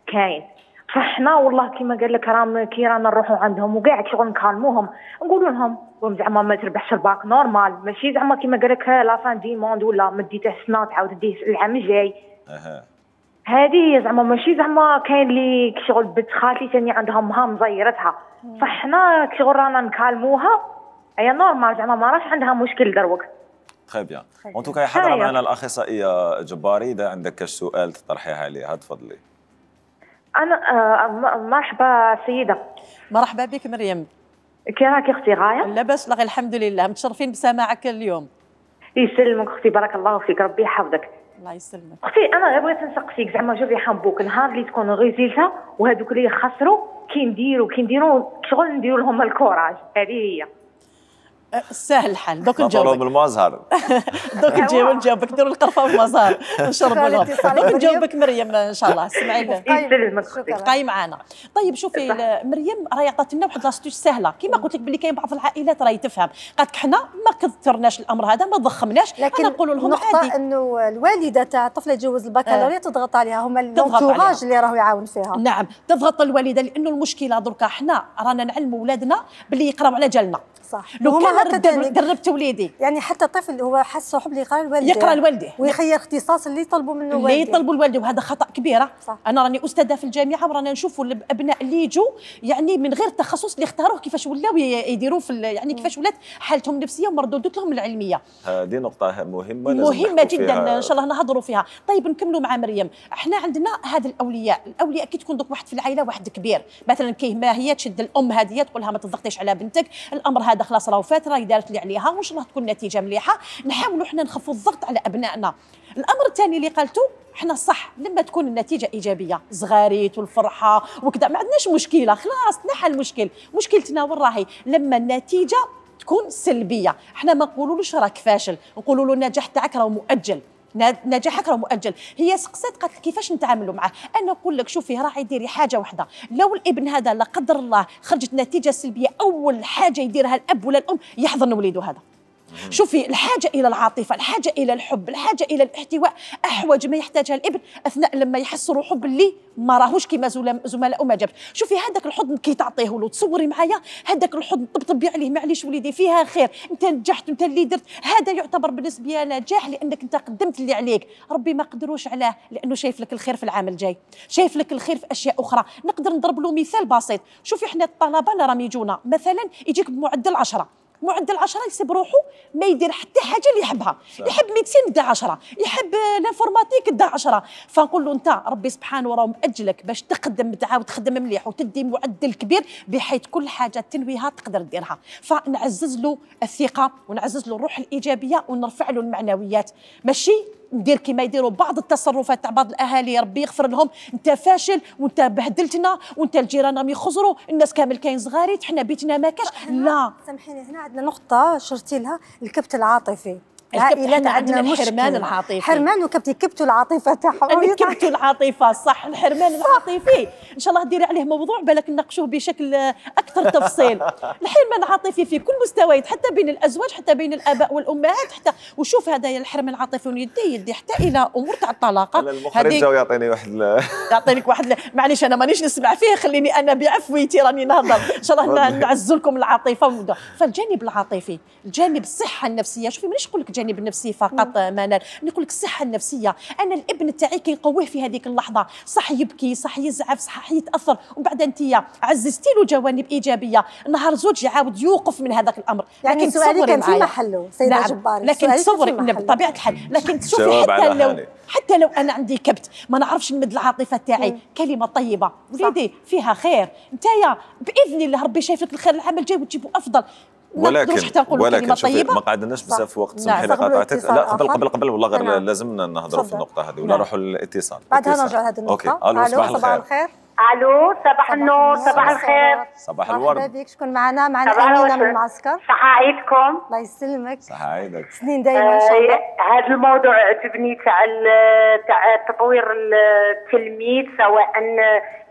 كاين فاحنا والله كما قال لك راهم كي رانا نروحوا عندهم وكاع شغل نكالموهم نقولوا لهم زعما ما تربحش الباك نورمال، ماشي زعما كما قال لك لا فان دي موند ولا مديته السنه تعاود ديه العام الجاي. اها هذه زعما ماشي زعما كاين اللي شغل بنت خالتي ثاني عندها مهام مزيرتها، فاحنا شغل رانا نكالموها هي نورمال زعما ما راش عندها مشكل دروك. خير بيان. اون توكا حاضره معنا الاخصائيه جباري، اذا عندك كاش سؤال تطرحيه عليها تفضلي. انا آه مرحبا سيده. مرحبا بك مريم. كي راكي اختي غايه؟ لاباس والله الحمد لله، متشرفين بسماعك اليوم. يسلمك اختي، بارك الله فيك، ربي يحفظك. الله يسلمك. اختي انا غير بغيت نسقسيك زعما شوفي حنبوك النهار اللي تكون غيزيلتها وهذوك اللي خسروا كي نديروا كي نديروا شغل نديروا لهم الكوراج، هذه هي. سهل الحال. دوك نجاوبك نجاوبك بالمزهر. دوك نجاوب نجاوبك نديروا القرفه والمزهر نشرب لهم. دوك نجاوبك مريم ان شاء الله. اسمعي بقاي معنا. طيب شوفي مريم راهي عطات لنا واحد لاستيش سهله كما قلت لك بلي كاين بعض العائلات راهي تفهم قالت لك حنا ما كثرناش الامر هذا ما ضخمناش لكن نقولوا لهم عادي. النقطه انه الوالده تاع الطفل يتجوز البكالوريا آه. تضغط عليها هما الانتوراج اللي راهو يعاون فيها. نعم تضغط الوالده لانه المشكله دركا حنا رانا نعلموا ولادنا باللي يقراو على جالنا صح. لو كان دربت وليدي يعني حتى الطفل هو حس حب اللي يقرا لوالده يقرا لوالده ويخير اختصاص اللي يطلبوا منه والده اللي يطلبوا الوالده وهذا خطا كبير. انا راني استاذه في الجامعه ورانا نشوفوا الابناء اللي يجوا يعني من غير التخصص اللي اختاروه كيفاش ولاو يديروا في يعني كيفاش ولات حالتهم النفسيه ومردوداتهم العلميه. هذه نقطه مهمه مهمه جدا ان شاء الله نهضروا فيها. طيب نكملوا مع مريم. احنا عندنا هذا الاولياء الاولياء كي تكون دوك واحد في العائله واحد كبير مثلا كيه ما هي تشد الام هذه تقول لها ما تضغطيش على بنتك الامر هذا خلاص راهو فات راهي دارت اللي عليها وان شاء الله تكون نتيجه مليحه. نحاولوا احنا نخفوا الضغط على ابنائنا. الامر الثاني اللي قالته احنا صح لما تكون النتيجه ايجابيه زغاريت والفرحه وكذا ما عندناش مشكله خلاص نحل المشكل. مشكلتنا وين راهي لما النتيجه تكون سلبيه. احنا ما نقولولوش راك فاشل نقولوا له النجاح تاعك راه مؤجل نجاحك راه مؤجل. هي سقسات قالت كيفاش نتعاملوا معاه. انا نقول لك شوفي راعي ديري حاجه واحده لو الابن هذا لا قدر الله خرجت نتيجه سلبيه اول حاجه يديرها الاب ولا الام يحضن وليده هذا. شوفي الحاجه الى العاطفه الحاجه الى الحب الحاجه الى الاحتواء احوج ما يحتاجها الابن اثناء لما يحس روحه باللي ما راهوش كيما زملائه ما جابش. شوفي هذاك الحضن كي تعطيه له تصوري معايا هذاك الحضن طبطبي عليه معليش وليدي فيها خير انت نجحت انت اللي درت هذا يعتبر بالنسبه لي نجاح لانك انت قدمت اللي عليك. ربي ما قدروش عليه لانه شايف لك الخير في العام الجاي شايف لك الخير في اشياء اخرى. نقدر نضرب له مثال بسيط. شوفي احنا الطلبه اللي راهم يجونا مثلا يجيك بمعدل عشرة معدل عشرة يسيب روحه ما يدير حتى حاجه اللي يحبها. يحب ميديسين دا عشرة يحب الانفورماتيك دا عشرة. فنقول له انت ربي سبحانه راه مأجلك باش تقدم تعاود تخدم مليح وتدي معدل كبير بحيث كل حاجه تنويها تقدر ديرها. فنعزز له الثقه ونعزز له الروح الايجابيه ونرفع له المعنويات. ماشي ندير كما يديروا بعض التصرفات تاع بعض الاهالي ربي يغفر لهم انت فاشل وانت بهدلتنا وانت الجيران راهم يخزروا الناس كامل كاين صغاريت حنا بيتنا ما كاش. لا سامحيني هنا عندنا نقطه شرتي لها الكبت العاطفي. العائلات عندنا الحرمان العاطفي حرمان وكبت يكبتوا العاطفه تاعهم يكبتوا العاطفه صح. الحرمان العاطفي ان شاء الله ديري عليه موضوع بالك نناقشوه بشكل اكثر تفصيل. الحرمان العاطفي في كل مستويات حتى بين الازواج حتى بين الاباء والامهات حتى وشوف هذا الحرمان العاطفي يدي يدي حتى الى امور تاع الطلاق. المخرج جاو يعطيني واحد يعطيني واحد معليش انا مانيش نسمع فيه خليني انا بعفويتي راني نهضر ان شاء الله نعزز لكم العاطفه. فالجانب العاطفي الجانب الصحه النفسيه. شوفي مانيش نقول لك الجانب النفسي فقط منال نقول لك الصحه النفسيه. انا الابن تاعي كنقويه في هذيك اللحظه صح يبكي صح يزعف صح يتاثر وبعد انت عززتي له جوانب ايجابيه نهار زوج يعاود يوقف من هذاك الامر. يعني لكن سؤالي كان في محله سيده نعم. جبار لكن تصوري بطبيعه الحال لكن تشوفي حتى لو حتى لو انا عندي كبت ما نعرفش نمد العاطفه تاعي كلمه طيبه وليدي فيها خير نتايا باذن الله ربي شايف لك الخير العام الجاي وتجيبوا افضل. ولكن ولكن شوفي ما قعدناش بزاف وقت سمحي لي قاطعتك. لا قبل قبل قبل والله غير لازمنا نهضروا في النقطه هذه ولا نروحوا للاتصال. بعدها نرجع لهذه النقطه. اوكي الو صباح الخير. الو صباح النور صباح الخير. صباح الورد. مرحبا بك شكون معنا؟ معنا امينه من المعسكر. صحه عيدكم. الله يسلمك. صحه عيدك. سنين دائما ان شاء الله. هذا الموضوع عجبني تاع تاع تطوير التلميذ سواء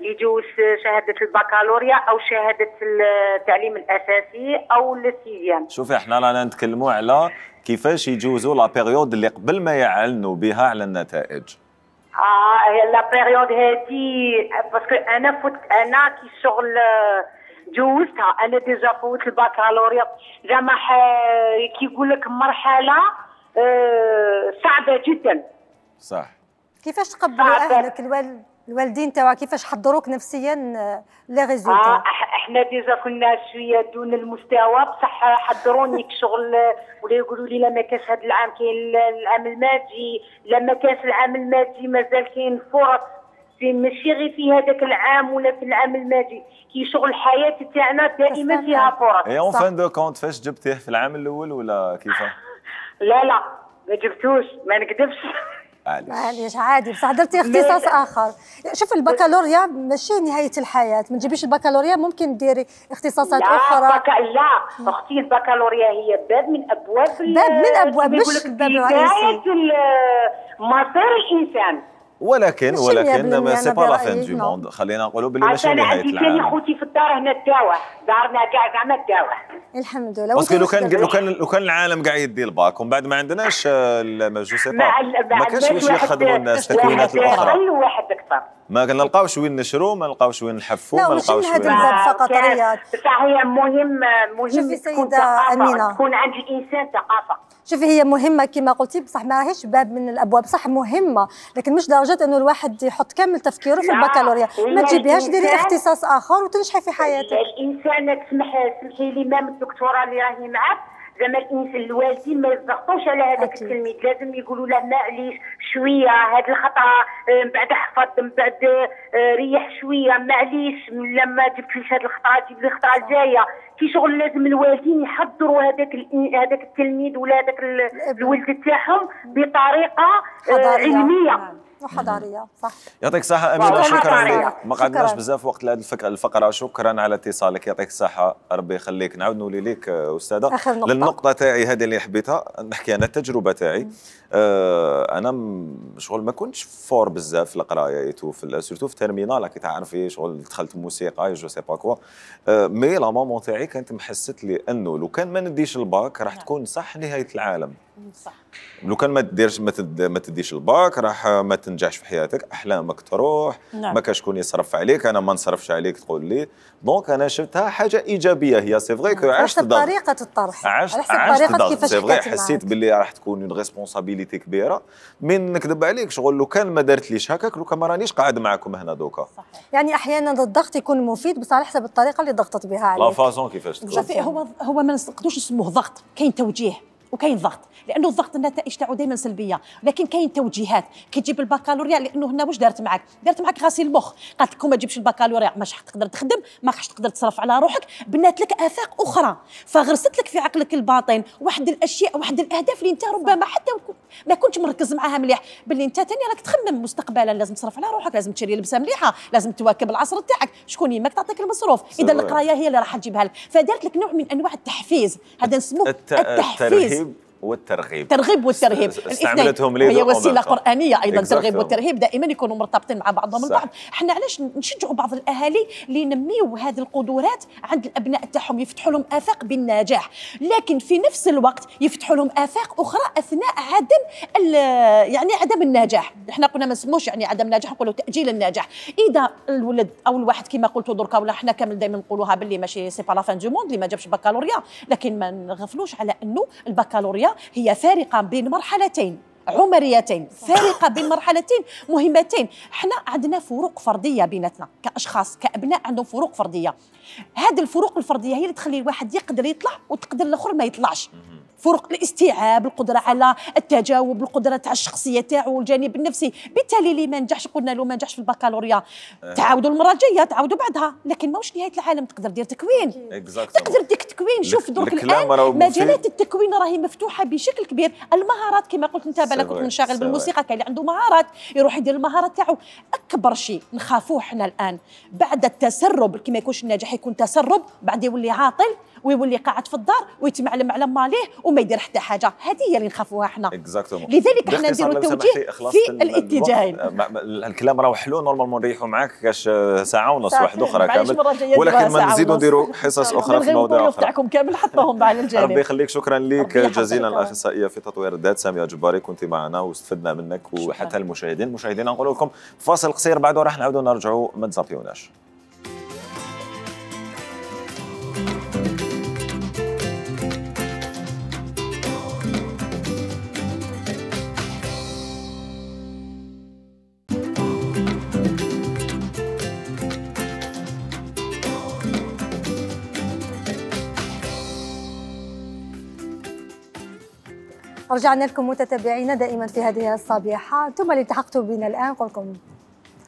يجوز شهاده البكالوريا او شهاده التعليم الاساسي او السيزيام. شوفي احنا رانا نتكلموا على كيفاش يجوزوا لا بيريود اللي قبل ما يعلنوا بها على النتائج. اه لا بيريود هذه باسكو انا فوت انا كي شغل جوزتها انا ديجا فوت البكالوريا زعما كي يقول لك مرحله آه صعبه جدا. صح. كيفاش تقبلوا اهلك الوالد الوالدين تاعك كيفاش حضروك نفسيا لي ريزولتا؟ آه احنا ديجا كنا شويه دون المستوى بصح حضروني كشغل ولا يقولوا لي لا ما كاش هذا العام كاين العام الماضي لا ما كاش العام الماضي مازال كاين فرص في ماشي غير في هذاك العام ولا في العام الماضي كي شغل الحياه تاعنا دائما فيها فرص. اي اون فان دو كونت فاش جبتيه في العام الاول ولا كيفاه؟ لا لا ما جبتوش ما نكذبش. معليش عادي بصح درتي اختصاص اخر. شوف البكالوريا ماشي نهايه الحياه، ما تجيبيش البكالوريا، ممكن ديري اختصاصات لا اخرى. بك... لا اختي البكالوريا هي باب من ابواب باب من ابواب مش الباب الرئيسي مصير الانسان. ولكن ولكن سي با لا فين دو موند، خلينا نقولوا بلي ماشي نهايه العالم. عندي خوتي في الدار هنا تداوى، دارنا كاع زعما تداوى. الحمد لله. باسكو لو كان لو كان لو كان العالم كاع يدي الباك ومن بعد ما عندناش جو سي با ما كانش باش يخدموا الناس التكوينات الاخرى. واحد اكثر ما نلقاوش وين نشرو، ما نلقاوش وين نحفوا، ما نلقاوش وين. لا ماشي هذا فقط رياض. بصح هي مهم مهم شوفي سيدة أمينة، تكون عند الانسان ثقافه. شوفي هي مهمه كما قلتي، بصح ما راهيش باب من الابواب، صح مهمه لكن مش درجه انه الواحد يحط كامل تفكيره في البكالوريا. ما تجيبيهاش ديري اختصاص اخر وتنجحي في حياتك. الانسان تسمح سمحي لي مام الدكتوره اللي راهي معك، زعما الانسان الوالدين ما يضغطوش على هذاك التلميذ، لازم يقولوا له معليش شويه هاد الخطره من بعد حفظ، من بعد ريح شويه، معليش لما جبتليش هاد الخطره جيب لي الخطره الجايه. في شغل لازم الوالدين يحضروا هذاك هذاك التلميذ ولا هذاك الولد تاعهم بطريقه علميه وحضاريه. صح. يعطيك الصحه امينه، شكرا لك. ما قعدناش بزاف وقت لهذه الفقره. شكرا على اتصالك، يعطيك الصحه، ربي يخليك. نعاود نولي لك استاذه للنقطه تاعي هذه اللي حبيتها نحكي انا التجربه تاعي. آه انا شغل ما كنتش فور بزاف في القرايه في سورتو في تيرمينال كي تعرفي شغل دخلت موسيقى جو سي با كوا. آه مي لا مامون تاعي كانت محست لي انه لو كان ما نديش الباك راح تكون صح نهايه العالم. صح. لو كان ما تديرش ما تديش الباك راح ما تنجحش في حياتك، احلامك تروح. نعم. ما كاش شكون يصرف عليك، انا ما نصرفش عليك تقول لي. دونك انا شفتها حاجه ايجابيه. هي سي فغي كو عشت ضغط، طريقه الطرح، عشت عشت ضغط سي فغي، حسيت باللي راح تكون اون ريسبونسابيلتي كبيره. من نكذب عليك شغل لو كان ما درتليش هكاك، لو كان ما رانيش قاعد معكم هنا دوكا. صحيح. يعني احيانا الضغط يكون مفيد بس على حسب الطريقه اللي ضغطت بها عليك. لا فازون كيفاش تكون. شوفي هو هو ما نقدروش نسموه ضغط، كاين توجيه وكاين ضغط، لانه الضغط النتائج تاعو دائما سلبيه، لكن كاين توجيهات. كي تجيب البكالوريا لانه هنا واش دارت معك؟ دارت معك غسيل المخ، قالت لك ما تجيبش البكالوريا ماش راح تقدر تخدم، ما راحش تقدر تصرف على روحك، بنات لك افاق اخرى، فغرست لك في عقلك الباطن واحد الاشياء واحد الاهداف اللي انت ربما حتى ما كنتش مركز معاها مليح، باللي انت ثاني راك تخمم مستقبلا، لازم تصرف على روحك، لازم تشري لبسه مليحه، لازم تواكب العصر تاعك، شكون يماك تعطيك المصروف، اذا القرايه هي اللي راح تجيبها لك، فدارت لك نوع من انواع التحفيز، هذا نسموه الت... التحفيز والترغيب. الترغيب والترهيب استعملتهم لي هي وسيله قرانيه ايضا. الترغيب والترهيب دائما يكونوا مرتبطين مع بعضهم البعض. احنا علاش نشجعوا بعض الاهالي اللي ينميوا هذه القدرات عند الابناء تاعهم، يفتحوا لهم افاق بالنجاح، لكن في نفس الوقت يفتحوا لهم افاق اخرى اثناء عدم يعني عدم النجاح. احنا قلنا ما نسموش يعني عدم النجاح، نقولوا تاجيل النجاح. اذا الولد او الواحد كما قلتوا دركا، ولا احنا كامل دائما نقولوها باللي ماشي سي با لا فان دو موند اللي ما جابش بكالوريا، لكن ما نغفلوش على انه البكالوريا هي فارقة بين مرحلتين عمريتين، فارقة بين مرحلتين مهمتين. احنا عندنا فروق فردية بيناتنا كأشخاص كأبناء، عندهم فروق فردية. هذه الفروق الفردية هي اللي تخلي الواحد يقدر يطلع وتقدر الآخر ما يطلعش. فروق الاستيعاب، القدرة على التجاوب، القدرة تاع الشخصية تاعو، الجانب النفسي. بالتالي اللي ما نجحش قلنا له ما نجحش في البكالوريا، تعاودوا المرة الجاية، تعاودوا بعدها، لكن ماهوش نهاية العالم، تقدر دير تكوين. تقدر ديك تكوين. شوف درك الآن مجالات التكوين راهي مفتوحة بشكل كبير. المهارات كما قلت انت بالك كنت منشغل بالموسيقى، كاين اللي عنده مهارات يروح يدير المهارات تاعو. أكبر شيء نخافوه احنا الآن بعد التسرب، كي ما يكونش الناجح يكون تسرب، بعد يولي عاطل ويولي قاعد في الدار ويتمعلم على ماليه وما يدير حتى حاجه. هذه هي اللي نخافوها احنا. لذلك احنا نديروا التوجيه في الاتجاهين. الكلام راه حلو، نورمالمون نريحوا معاك كاش ساعه ونص واحده اخرى كامل، ولكن ما نزيدوا نديروا حصص اخرى في مواضيع اخرى. تاعكم كامل حطوهم على الجانب. ربي يخليك، شكرا لك جزيلا الاخصائيه في تطوير الذات ساميه جباري، كنت معنا واستفدنا منك وحتى المشاهدين. المشاهدين نقول لكم فاصل قصير بعده راح نعاودوا نرجعوا، ما تزابيوناش. رجعنا لكم متتبعينا دائما في هذه الصبيحة. ثم اللي التحقتوا بنا الآن نقول لكم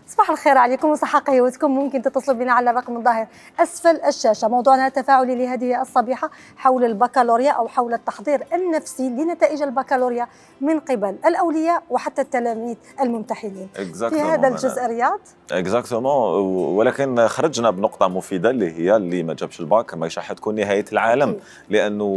صباح صباح الخير عليكم وصحة قهوتكم. ممكن تتصلوا بنا على الرقم الظاهر أسفل الشاشة. موضوعنا التفاعلي لهذه الصبيحة حول البكالوريا أو حول التحضير النفسي لنتائج البكالوريا من قبل الأولياء وحتى التلاميذ الممتحنين. في هذا الجزء رياض اكزاكتومون، ولكن خرجنا بنقطة مفيدة اللي هي اللي ما جابش الباك ماهيش راح تكون نهاية العالم، لأنه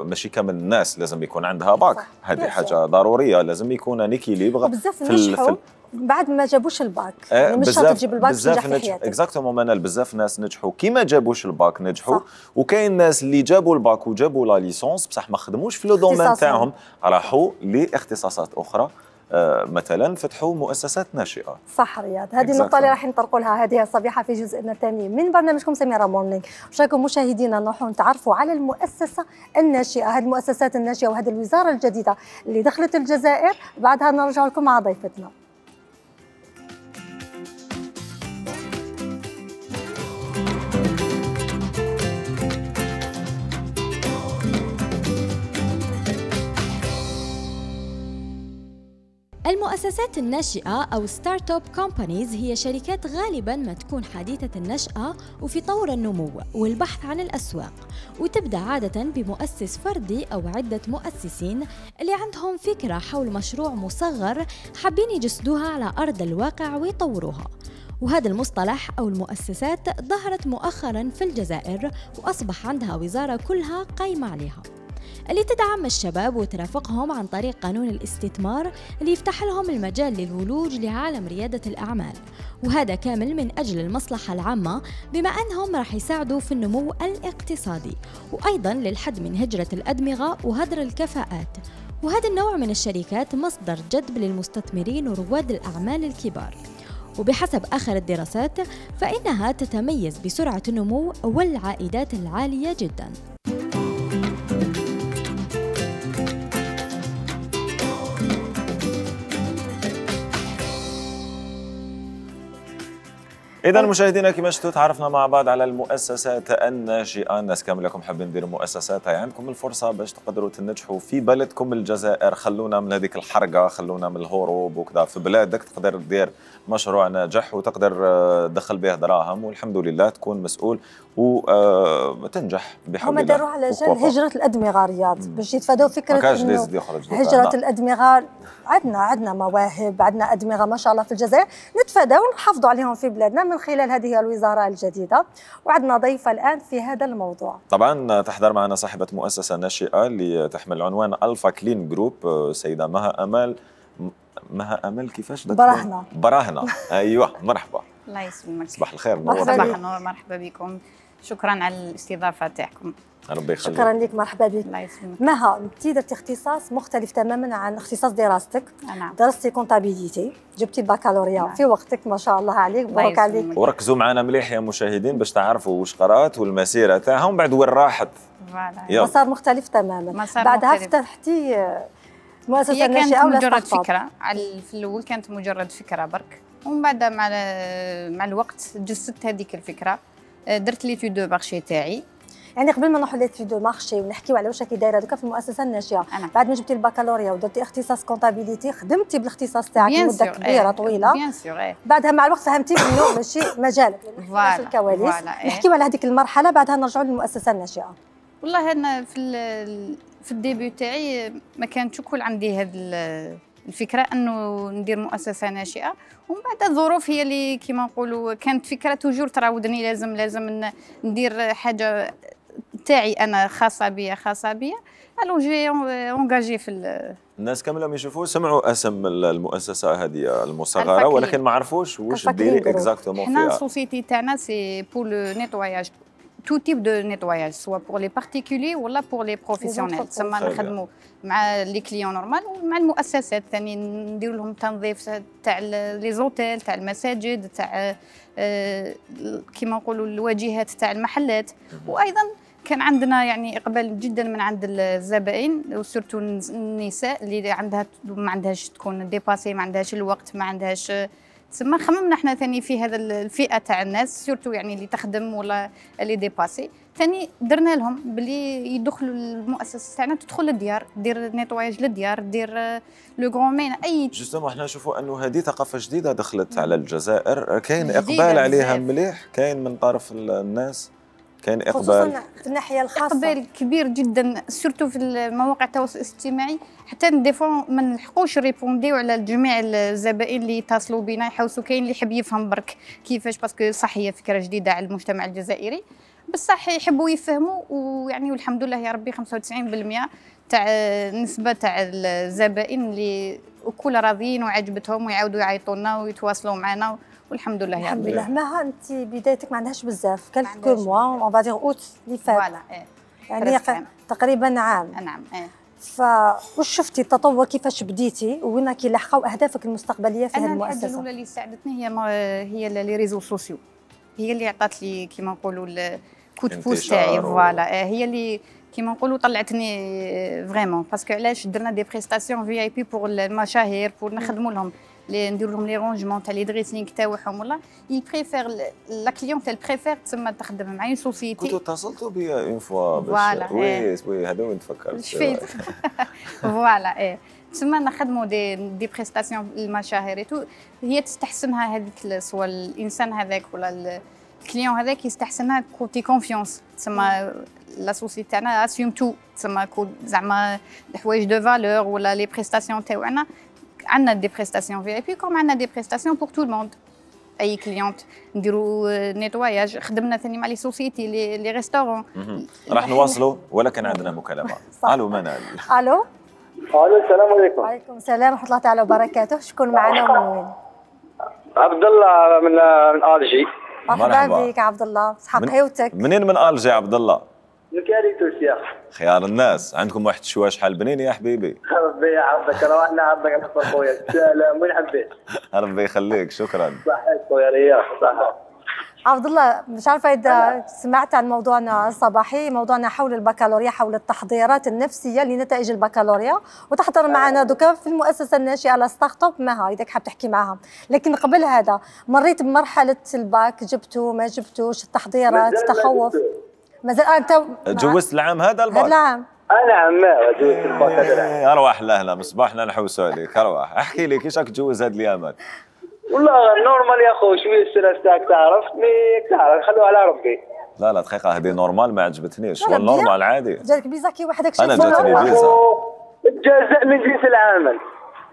ماشي كامل الناس لازم يكون عندها باك، هذه حاجة ضرورية، لازم يكون نيكيليبر في ال بعد ما جابوش الباك. يعني مش شرط تجيب الباك تنجح في حياتك. اكزاكتومون، منال بزاف ناس نجحوا كي ما جابوش الباك نجحوا، وكاين ناس اللي جابوا الباك وجابوا لا ليسونس بصح ما خدموش في لو دومين تاعهم، راحوا لاختصاصات اخرى. آه مثلا فتحوا مؤسسات ناشئه. صح رياض، هذه النقطه اللي راح نطرقوا لها هذه الصبيحه في جزءنا الثاني من برنامجكم سميرة مورنينغ. واش رايكم مشاهدينا نروحوا نتعرفوا على المؤسسه الناشئه، هذه المؤسسات الناشئه وهذه الوزاره الجديده اللي دخلت الجزائر. بعدها نرجع لكم مع ضيفتنا. المؤسسات الناشئة أو ستارت اب كومبانيز هي شركات غالباً ما تكون حديثة النشأة وفي طور النمو والبحث عن الأسواق، وتبدأ عادة بمؤسس فردي أو عدة مؤسسين اللي عندهم فكرة حول مشروع مصغر حابين يجسدوها على أرض الواقع ويطوروها. وهذا المصطلح أو المؤسسات ظهرت مؤخراً في الجزائر وأصبح عندها وزارة كلها قايمة عليها، اللي تدعم الشباب وترافقهم عن طريق قانون الاستثمار اللي يفتح لهم المجال للولوج لعالم ريادة الأعمال، وهذا كامل من أجل المصلحة العامة بما أنهم راح يساعدوا في النمو الاقتصادي وأيضا للحد من هجرة الأدمغة وهدر الكفاءات. وهذا النوع من الشركات مصدر جذب للمستثمرين ورواد الأعمال الكبار، وبحسب آخر الدراسات فإنها تتميز بسرعة النمو والعائدات العالية جداً. إذا مشاهدينا كما شفتوا تعرفنا مع بعض على المؤسسات الناشئة. الناس كامل لكم حابين ديروا مؤسسات، هاي عندكم الفرصة باش تقدروا تنجحوا في بلدكم الجزائر. خلونا من هذيك الحرقة، خلونا من الهروب وكذا. في بلادك تقدر دير مشروع ناجح وتقدر تدخل به دراهم والحمد لله تكون مسؤول وتنجح بحول الله. هما داروها على جال هجرة الأدمغة رياض باش يتفادوا فكرة إنه هجرة الأدمغة. عندنا عندنا مواهب، عندنا أدمغة ما شاء الله في الجزائر، نتفادوا ونحافظوا عليهم في بلادنا من خلال هذه الوزارة الجديدة. وعندنا ضيفة الآن في هذا الموضوع. طبعا تحضر معنا صاحبة مؤسسة ناشئة اللي تحمل عنوان ألفا كلين جروب، سيدة مها أمال. مها أمل كيفاش؟ براهنة. براهنة أيوه، مرحبا. الله يسلمك. صباح الخير. صباح النور، مرحبا بكم، شكرا على الاستضافة تاعكم. ربي يخليك. شكرا لك، مرحبا بك. الله يسلمك. مها، انت درتي اختصاص مختلف تماما عن اختصاص دراستك. نعم. درستي كونتابيليتي، جبتي البكالوريا نعم. في وقتك ما شاء الله عليك، مبروك عليك. وركزوا معنا مليح يا مشاهدين باش تعرفوا واش قرات والمسيره تاعها ومن بعد وين راحت. مسار مختلف تماما. مسار بعدها مختلف. فتحتي مؤسسه ناشئه ناشئه ولا مجرد فكره. في الاول كانت مجرد فكره برك، ومن بعد مع مع الوقت جسدت هذيك الفكره، درت لي دو مارشي تاعي. يعني قبل ما نروحوا لي دو مارشي ونحكيو على واش راكي دايره دوكا في المؤسسه الناشئه، بعد ما جبتي البكالوريا ودرتي اختصاص كونتابيليتي، خدمتي بالاختصاص تاعك مده كبيره طويله. بيان سور. بعدها مع الوقت فهمتي انه ماشي مجالك، يعني في الكواليس. نحكيو على هذيك المرحله، بعدها نرجعوا للمؤسسه الناشئه. والله انا في في الديبيو تاعي ما كانتش كل عندي هذه الفكره انه ندير مؤسسه ناشئه، ومن بعد الظروف هي اللي كيما نقولوا كانت فكره توجور تراودني، لازم لازم ندير حاجه تاعي انا خاصه بيا خاصه بيا. الو جي اونجاجي في الناس كاملهم يشوفوا سمعوا اسم المؤسسه هذه المصغره ولكن ما عرفوش واش ديري اكزاكتومون فيها. حنا السوسيتي تاعنا سي بور لو نيتواياج، tout type de nettoyage, soit pour les particuliers ou là pour les professionnels. تسمى نخدموا مع لي كليون نورمال ومع المؤسسات ثاني نديروا لهم تنظيف تاع لي زوتيل تاع المساجد تاع كيما نقولوا الواجهات تاع المحلات. وايضا كان عندنا يعني اقبال جدا من عند الزبائن وسورتو النساء اللي عندها ما عندهاش تكون ديباسي، ما عندهاش الوقت، ما عندهاش تسمى. خممنا احنا ثاني في هذا الفئه تاع الناس سورتو يعني اللي تخدم ولا اللي ديباسي، ثاني درنا لهم بلي يدخلوا المؤسسه تاعنا، تدخل للديار، دير نيتواياج للديار، دير لو غران مين اي جوستومون احنا نشوفوا انه هذه ثقافه جديده دخلت على الجزائر، كاين جديدة اقبال عليها بزاف. مليح، كاين من طرف الناس، كاين خصوصا اقبال في الناحيه الخاصه. اقبال كبير جدا سورتو في المواقع التواصل الاجتماعي، حتى ديفون ما نلحقوش ريبونديو على جميع الزبائن اللي يتصلوا بنا يحوسوا. كاين اللي يحب يفهم برك كيفاش، باسكو صح هي فكره جديده على المجتمع الجزائري، بصح يحبوا يفهموا، ويعني والحمد لله يا ربي خمسة وتسعين بالمئة تاع نسبه تاع الزبائن اللي وكل راضيين وعجبتهم ويعاودوا يعيطوا لنا ويتواصلوا معنا، والحمد لله يا الحمد ربي. لله. مها انت بدايتك ما عندهاش بزاف، كانت كل موا اون فادير اوت اللي فات، فوالا ايه يعني تقريبا عام. نعم ايه. فواش شفتي التطور كيفاش بديتي وين كي لحقوا اهدافك المستقبليه في هذه انا الحاجه المؤسسه؟ الاولى اللي ساعدتني هي هي لي ريزو سوسيو، هي اللي عطات لي كيما نقولوا الكوت بوس تاعي. فوالا هي اللي كيما نقولوا طلعتني فريمون، باسكو علاش درنا دي بريستاسيون في اي بي بور المشاهير، بور نخدموا لهم لي نديروا لهم لي رونجمون تاع لي دريسينغ تاعهم. والله يبريفير لا كليونتيل بريفير تسمى تخدم مع اون سوسيتي. كنتوا اتصلتوا بيا اون فوا فوالا وي وي هذا وين تفكرت شفيت. فوالا ايه تسمى نخدموا دي دي بريستاسيون المشاهير تو، هي تستحسنها هذيك سواء الانسان هذاك ولا الكليون هذاك يستحسنها كوتي كونفيونس، تسمى لا سوسيتي تاعنا اسيوم تو، تسمى زعما الحوايج دو فالور ولا لي بريستاسيون تاعنا. عندنا دي بريستاسيون في اي بي كوم عندنا دي بريستاسيون بور تو الموند. اي كليونت نديروا نيتواياج، خدمنا ثاني مع لي سوسيتي لي لي ريستورون. راح نواصلوا ولكن عندنا مكالمه. الو منال. الو الو السلام عليكم. وعليكم السلام ورحمه الله تعالى وبركاته. شكون معنا ومن وين؟ عبد الله من من الجي. مرحبا بك عبد الله، صحة حيوتك. منين من الجي عبد الله؟ من كاريتوس يا خيار الناس. عندكم واحد الشوا شحال بنين يا حبيبي. ربي يحفظك، روحنا عبدك نحفظ خويا. سلام وين حبيت. ربي يخليك، شكرا. صحيت خويا رياض صح. عبد الله، مش عارفه اذا سمعت عن موضوعنا الصباحي، موضوعنا حول البكالوريا، حول التحضيرات النفسيه لنتائج البكالوريا، وتحضر معنا دوكا في المؤسسه الناشئه لستارت اب مها اذا حاب تحكي معها. لكن قبل هذا مريت بمرحله الباك، جبتوا ما جبتوش، التحضيرات، التخوف؟ مازال انت تجوزت العام هذا الباك؟ هذا العام انا عماه جوزت الباك هذا العام. ارواح لهنا مصباحنا نحوسوا عليك. ارواح احكي لي كيفاش راك تجوز هاد الايامات؟ والله نورمال يا خو، شويه الستريس تاعك تعرف، مي تعرف خلوه على ربي. لا لا دقيقه، هذه نورمال ما عجبتنيش، ولا نورمال عادي. جاتك فيزا كي وحدك انا جاتني فيزا. الجزاء من جنس العمل.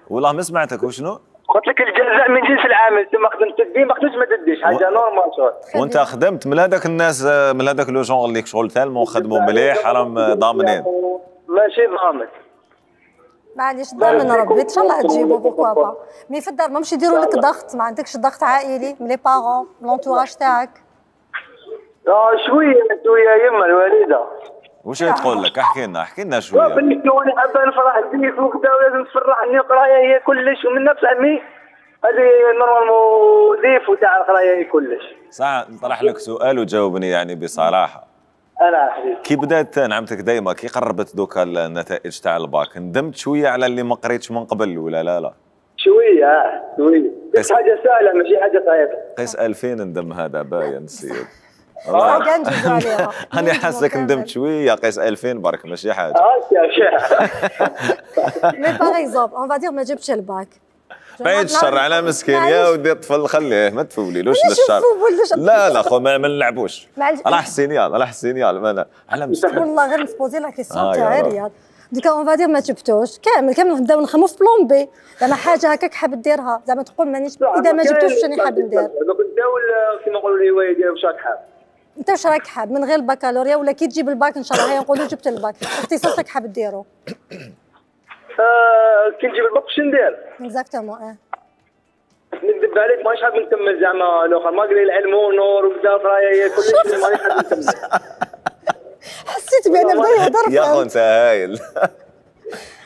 والله ما سمعتك وشنو؟ قلت لك الجزاء من جنس العمل، انت ما خدمت تدي ما خدمتش ما تديش، حاجه نورمال شغل. وانت خدمت من هذاك الناس، من هذاك لو جونغ اللي شغل تالمون خدموا مليح راهم ضامنين. ماشي ضامن. معليش ضامن ربي ان شاء الله تجيبو بوكوا با. مي في الدار ما مش يديروا لك ضغط؟ ما عندكش ضغط عائلي من لي بارون من لونتوراج تاعك؟ اه شويه شويه يما الوالده. واش هي تقول لك؟ احكي لنا احكي لنا شويه. بالنسبه لي حابه نفرح بيك وكذا، ولازم تفرحني، قرايه هي كلش، ومن نفس عمي هذه نورمالمون ضيف وتاع القرايه هي كلش. صح. نطرح لك سؤال وجاوبني يعني بصراحه. انا حبيبي كي بدات نعمتك دايما، كي قربت دوكا النتائج تاع الباك، ندمت شويه على اللي ما قريتش من قبل ولا لا لا؟ شويه اه شويه، بس حاجه سهله ماشي حاجه صعيبه. قيس ألفين ندم هذا باين السيد. اه كان نجوزو عليها. انا حاسك ندمت شويه، قيس ألفين برك ماشي حاجه. اه مي باغ اكزومبل اون فادير ما جبتش الباك، بعيد الشر على مسكين يا ودي الطفل، خليه ما تفوليلوش للشر. لا لا خو ما نلعبوش. راه السينيال راه السينيال انا على مسكين. والله غير نسبوزي لا كيسيون تاعي رياض. دوكا اون فادير ما جبتوش كامل كامل، نبداو نخمو في بلون بي، زعما حاجه هكاك حاب ديرها، زعما تقول مانيش اذا ما جبتوش واش راني حاب ندير. دوك نبداو كيما نقولوا الهوايه ديالو واش راك حاب. انت واش راك حاب من غير البكالوريا، ولا كي تجيب الباك ان شاء الله هيا نقولوا جبت الباك، اختصاصك حاب ديرو؟ آه كي نجيب الباك واش ندير؟ اكزاكتومون اه. نكذب عليك مانيش حاب نكمل زعما الاخر، ما قري العلم ونور وكذا قرايه كلش، مانيش حاب نكمل. حسيت بان بدا يهضر. يا خو انت هايل.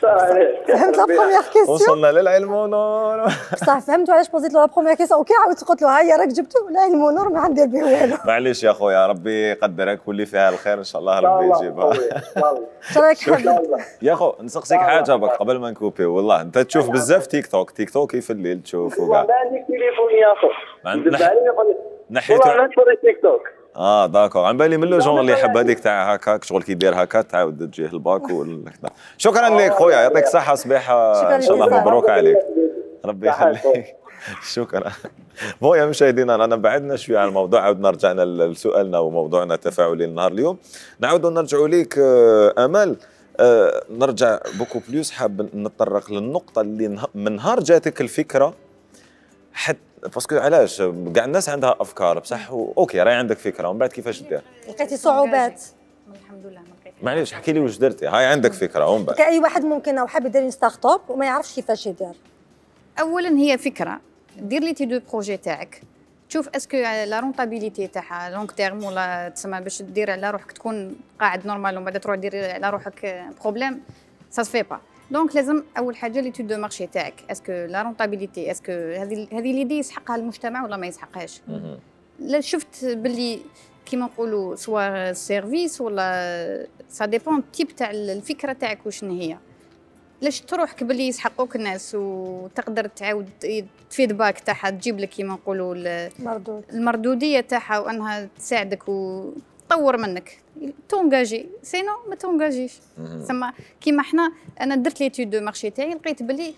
فهمت لا بروميير كيسيون؟ وصلنا للعلم ونور. بصح فهمتوا علاش بوزيت له لا بروميير كيسيون، وكي عاودت قلت له هيا راك جبتو العلم ونور ما ندير به والو. معليش يا خويا، ربي يقدرك واللي فيها الخير ان شاء الله ربي يجيبها. راك حاب يا خو نسقسيك حاجه بك قبل ما نكوبي، والله انت تشوف بزاف تيك توك، تيك توك في الليل تشوف وكاع. ما عندك تليفون يا خو. نحيتو والله نتفرج تيك توك. اه داكور، عن بالي من لو جون اللي يحب هذيك تاع هكاك شغل كي يدير هكا تعاود تجيه الباك وهكذا. شكرا لك خويا، يعطيك الصحه صباحه ان شاء الله مبروك عليك، ربي يخليك. شكرا. بون يا مشاهدينا رانا بعدنا شويه عن الموضوع، عاودنا رجعنا لسؤالنا وموضوعنا التفاعلي لنهار اليوم. نعاودوا نرجعوا ليك امل، أه نرجع بوكو بلوس، حاب نتطرق للنقطه اللي من نهار جاتك الفكره حتى باسكو علاش كاع الناس عندها افكار بصح اوكي راهي عندك فكره ومن بعد كيفاش دير؟ لقيتي صعوبات؟ الحمد لله ما لقيت. معليش احكي لي واش درتي، هاي عندك فكره ومن بعد كاي واحد ممكن او حاب يدير ستارت اب وما يعرفش كيفاش يدير. اولا هي فكره، دير لي تي دو بروجي تاعك، تشوف اسكو لا رونطابيليتي تاعها لونغ تيرم ولا تسمى باش دير على روحك تكون قاعد نورمال ومن بعد تروح دير على روحك بروبليم سا سفي با. دونك لازم اول حاجه لي تود دو مارشي تاعك، اسكو لا رونطابيليتي اسكو هذه هذه ليدي يسحقها المجتمع ولا ما يسحقهاش. لا شفت باللي كيما نقولوا سوا سيرفيس ولا سا ديبون تيب تاع الفكره تاعك وشنو هي، لاش تروحك باللي يسحقوك الناس وتقدر تعاود الفيدباك تاعها تجيب لك كيما نقولوا المردود المردوديه تاعها وانها تساعدك وتطور منك تونجاجي، سينو ما تونجاجيش. ثم كيما احنا انا درت لي تود دو مارشي تاعي لقيت باللي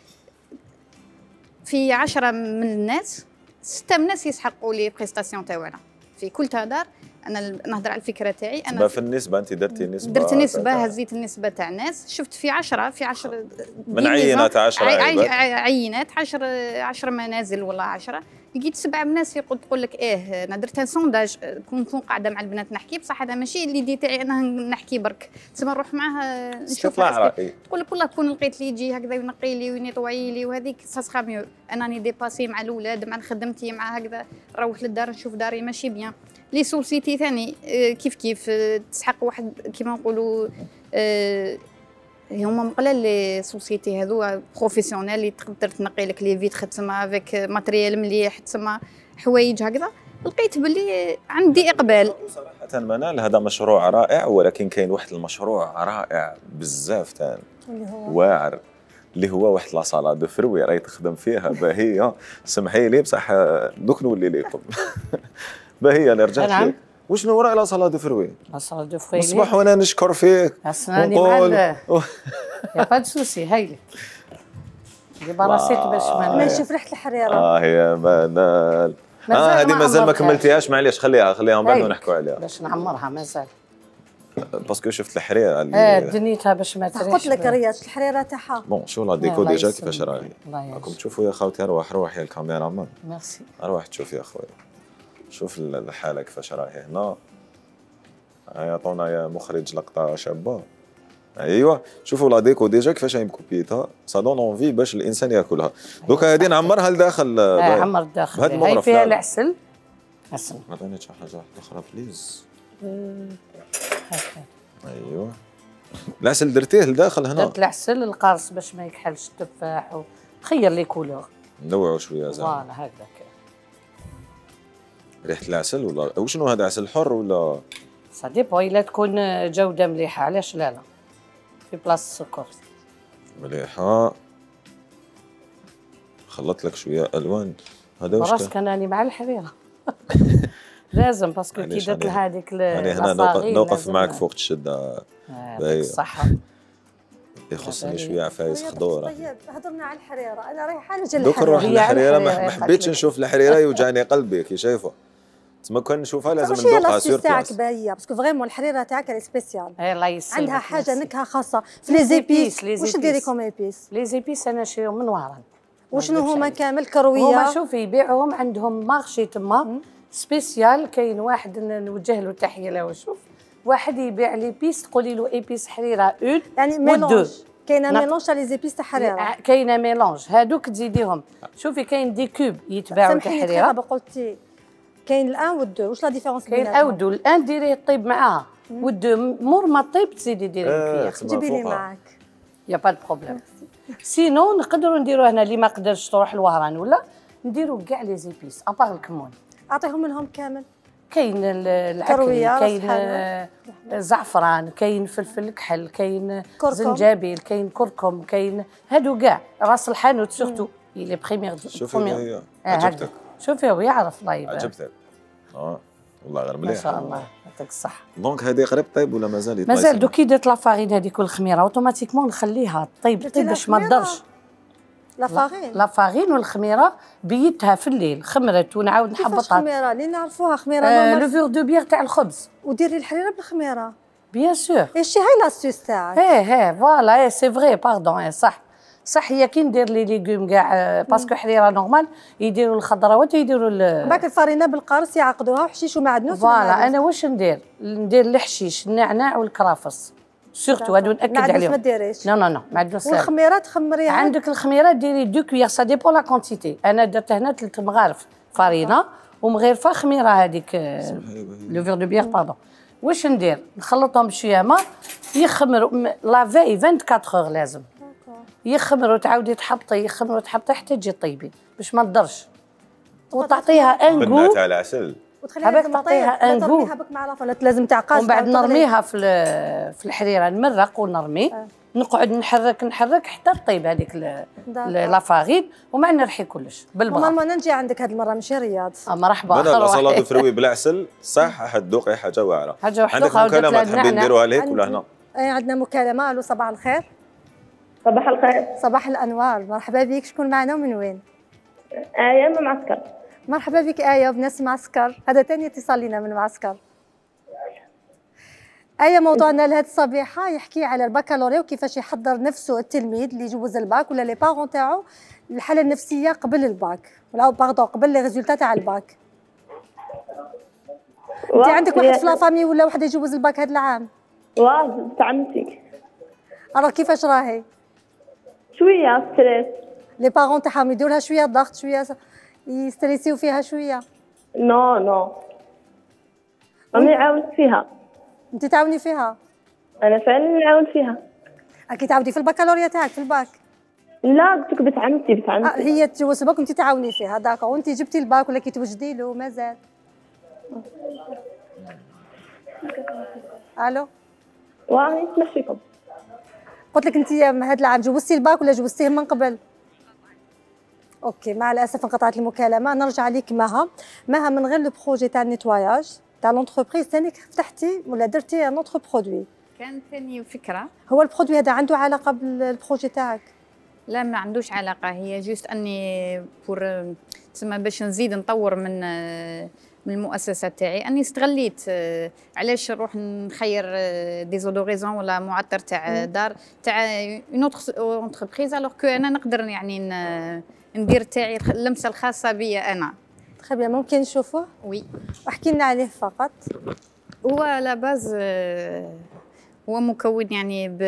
في عشرة من الناس ستة من الناس يسحقوا لي بريستاسيون تاعنا في كل تهدر. انا نهضر على الفكره تاعي انا في النسبه، انت درتي نسبه درت نسبه هزيت النسبه تاع الناس، شفت في عشرة في عشرة من عينات عشرة عي عينات عشرة عشرة منازل ولا عشرة لقيت سبعه من الناس يقول تقول لك ايه انا درت سونداج كون نكون قاعده مع البنات نحكي بصح هذا ماشي اللي دي تاعي انا نحكي برك، تسمى نروح معاه نشوف تقول لك والله كون لقيت لي يجي هكذا ينقي لي وينيطوي لي وهذيك سا ميو. انني ديباسي مع الاولاد مع خدمتي مع هكذا نروح للدار نشوف داري ماشي بيان. لي سوسيتي ثاني كيف كيف تسحق واحد كيما نقولوا هما مقلال لي سوسيتي هذو بروفيسيونيل اللي تقدر تنقي لك لي فيتر تسمى افيك ماتريال مليح تسمى حوايج هكذا. لقيت باللي عندي اقبال صراحه منال. هذا مشروع رائع، ولكن كاين واحد المشروع رائع بزاف ثاني اللي هو واعر اللي هو واحد لا صالا دو فروي راهي تخدم فيها باهيه. سمحي لي بصح دوك نولي لكم باهيه انا رجعت لك. وشنو راه لا صالا دو فروي؟ لا صالا دو فروي صباح وانا نشكر فيك ونقول يا با سوسي هايلك اللي براسيت باش ما نشوف ريحه الحريره. اه يا منال اه هذه مازال ما كملتيهاش. معليش خليها خليها من بعد نحكوا عليها باش نعمرها مازال باسكو شفت الحريره اللي اه دنيتها باش ما تريش. قلت لك رياض الحريره تاعها بون شو لا ديكو ديجا كيفاش راهي. راكم تشوفوا يا خوتي. اروح روح يا الكاميرا مان. ميرسي. اروح تشوف يا خويا شوف الحاله كيفاش راهي هنا. عطونا يا مخرج لقطه شابه. ايوا شوفوا لا ديكو ديجا كيفاش راهي مكوبيتها سا دون اونفي باش الانسان ياكلها. دوكا هذه نعمرها لداخل. اه عمر الداخل هاي فيها العسل. عسل ما عطينيش شي حاجه واحده اخرى بليز. ايوا العسل درتيه لداخل هنا. درت العسل القارص باش ما يكحلش التفاح وخير لي كولور نوعوا شويه زعما. فوالا هكذاك ريحه العسل ولا وشنو هذا عسل حر ولا سا ديبو الا تكون جوده مليحه علاش لا لا في بلاصه السكر مليحه. خلطت لك شويه الوان. هذا واش راسك انني مع الحريره لازم باسكو كي درت لها هذيك يعني هنا نوقف معك فوق الشده. يعطيك الصحه. يخصني شويه عفايس خضور. طيب هضرنا على الحريره انا رايحه نجي دوك نروح للحريره. ما حبيتش نشوف الحريره يوجعني قلبي كي شايفه تما كان نشوفها لازم ندوقها سور بلاص. تاعك باهيه باسكو فريمون الحريره تاعك راه سبيسيال. الله يسلمك. عندها حاجه نكهه خاصه في لي زيبيس. واش ديري كوم ايبيس؟ لي زيبيس انا نشريهم من وهران. وشنو هما كامل كرويه؟ هما شوفي يبيعوهم عندهم مارشي تما سبيسيال. كاين واحد نوجه له تحيه له شوف واحد يبيع لي بيس تقولي له ايبيس حريره اون يعني ميلونج. كاينه ميلونج تاع لي زيبيس تاع حريره. كاينه ميلونج هادوك تزيديهم. شوفي كاين دي كوب يتباعوا تاع حريره. سامحيني قلتي كاين الان والدو واش لا ديفيرونس بيناتهم؟ كاين الان والدو. الان ديري طيب معاها والدو مور ما طيب تزيدي ديري الكياخ. جيبي لي معاك يا با بروبليم. سينو نقدروا نديروا هنا اللي ما قدرش تروح لوهران ولا نديروا كاع لي زيبيس ابار الكمون. اعطيهم منهم كامل. كاين العكري كاين زعفران كاين فلفل كحل كاين زنجبيل كاين كركم كاين هادو كاع راس الحانوت سورتو لي بريمير. شوفي هي عجبتك. شوفي هو يعرف الله يبارك. عجبتك اه والله غير مليح ما شاء الله يعطيك الصحه. دونك هذه قريب طيب ولا مازال يطيب؟ مازال دوك كي درت لافارين هذيك والخميره اوتوماتيكمون نخليها طيب طيب باش ما تضرش. لافارين لافارين والخميره بيتها في الليل خمرت ونعاود نحبطها. كيفاش خميره اللي نعرفوها خميره آه لو فور دو بيغ تاع الخبز وديري الحريره بالخميره بيان سور. ايش هاي لاستيس تاعك؟ ايه ايه فوالا ايه سي فري باردون ايه صح صح. هي كي ندير لي ليغوم كاع باسكو حريره نورمال يديروا الخضروات ويديروا باك الفرينه بالقرص يعقدوها وحشيش ومعدنوس. فوالا انا واش ندير ندير الحشيش النعناع والكرافس سورتو هادو ناكد عليهم. ما ديريش. نو نو نو معدنوس. والخميره تخمريها عندك الخميره ديري دو كويير سا ديبون لا كونتيتي. انا درت هنا ثلاث مغارف فرينه ومغرفه خميره هذيك لو فير دو بيير باردون. واش ندير نخلطهم بشويه ما يخمروا لافي أربعة وعشرين اور لازم يخمروا تعاودي تحبطي يخمروا تحبطي حتى تجي طيبي باش ما تضرش وتعطيها ان غو. بنات على عسل وتخليها تعطيها ان غو مع لافونات لازم تعقاش. ومن بعد نرميها في في الحريره نمرق ونرمي أه. نقعد نحرك نحرك حتى طيب هذيك لافارين وما نرحي كلش بالبغا. ماما نجي عندك هذه المره ماشي رياض. اه مرحبا. انا لاصالاد فروي بالعسل صح حتذوقي حاجه واعره. حاجه عندك مكالمه تحبين نديروها لك ولا هنا؟ اي عندنا مكالمه. الو صباح الخير. صباح الخير. صباح الانوار. مرحبا بك. شكون معنا ومن وين؟ آية من معسكر. مرحبا بك آية بناس معسكر. هذا ثاني اتصال لنا من معسكر. آية موضوعنا لهذه الصبيحة يحكي على البكالوريا وكيفاش يحضر نفسه التلميذ اللي يجوز الباك ولا لي بارون تاعو الحالة النفسية قبل الباك ولا باردون قبل لي ريزولتا تاع الباك. انت عندك واحد في لافامي ولا واحد يجوز الباك هذا العام؟ واه بنت عمتي. راه كيفاش راهي؟ شوية ستريس. لي بارون تاعهم يديروا لها شوية ضغط شوية يستريسيو فيها شوية؟ نو نو راني عاونت فيها. انت تعاوني فيها؟ انا فعلا نعاون فيها. اكيد تعاودي في البكالوريا تاعك في الباك؟ لا قلت لك بنت عمتي بنت عمتي. آه هي تجوز الباك وانت تعاوني فيها داكور. وانت جبتي الباك ولا كي توجدي له مازال؟ الو واه نتمشيكم. قلت لك انت هذا العام جوزتي الباك ولا جوزتيه من قبل؟ اوكي مع الاسف انقطعت المكالمه. نرجع لك مها. مها من غير لو بروجي تاع النيتواياج تاع لونتربريز ثاني فتحتي ولا درتي ان اوتر برودوي؟ كان ثاني فكره. هو البرودوي هذا عنده علاقه بالبروجي تاعك؟ لا ما عندوش علاقه. هي جوست اني بور تسمى باش نزيد نطور من من المؤسسه تاعي اني استغليت علاش نروح نخير ديزودوريزون ولا معطر تاع دار تاع اون اوتر انتربريز الوغ كو انا نقدر يعني ندير تاعي اللمسه الخاصه بي انا. تخي ممكن نشوفوه؟ وي. احكي لنا عليه فقط. هو لا باز هو مكون يعني ب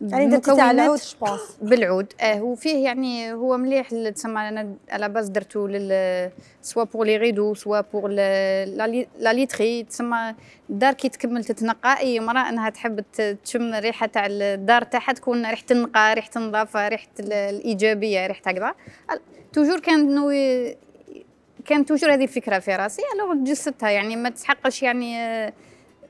يعني درتي تاع العود جو بالعود. اه وفيه يعني هو مليح تسمى. انا على باز درتو لل سوا بور لي ريدو سوا بور لا ليتري تسمى. الدار كي تكمل تتنقى اي امراه انها تحب تشم ريحه تاع الدار تاعها تكون ريحه النقاء ريحه النظافه ريحه الايجابيه ريحه هكذا. توجور كان نو كان توجور هذه الفكره في راسي الوغ جسدتها يعني ما تحقش يعني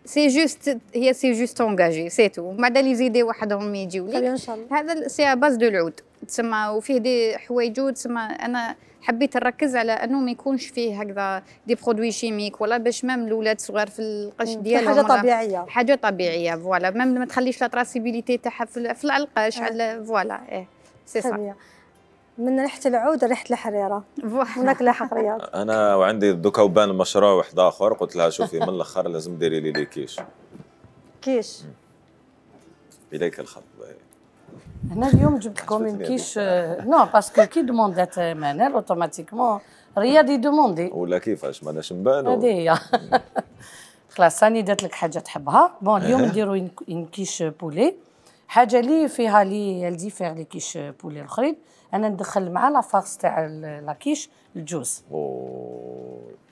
سي جوست هي سي جوست اونجاجي سي تو. بعد اللي يزيدي وحدهم يجيو لي ان شاء الله. هذا سي باز دو العود تسمى. وفيه دي حوايج تسمى. انا حبيت نركز على انه ما يكونش فيه هكذا دي برودوي شيميك ولا باش مام الاولاد صغار في القش ديالهم حاجه طبيعيه حاجه طبيعيه فوالا. مام ما تخليش لا تراسيبيليتي تاعها في العلقاش على فوالا. ايه سي صح. من ريحه العود ريحه الحريره وناكله حق رياض. انا وعندي دوكا وبان مشروع واحد اخر قلت لها شوفي من الاخر لازم ديري لي لي كيش. كيش اليك الخط. هنا اليوم جبت لكم كيش نو باسكو كي دوموندات منال اوتوماتيكمون رياض يدوموندي ولا كيفاش ماناش نبانو. هذه هي. خلاص راني درت لك حاجه تحبها. بون اليوم نديروا ان كيش بولي. حاجه لي فيها لي الديفير لي كيش بولي الاخرين. انا ندخل مع لا فارس تاع لاكيش الجوز.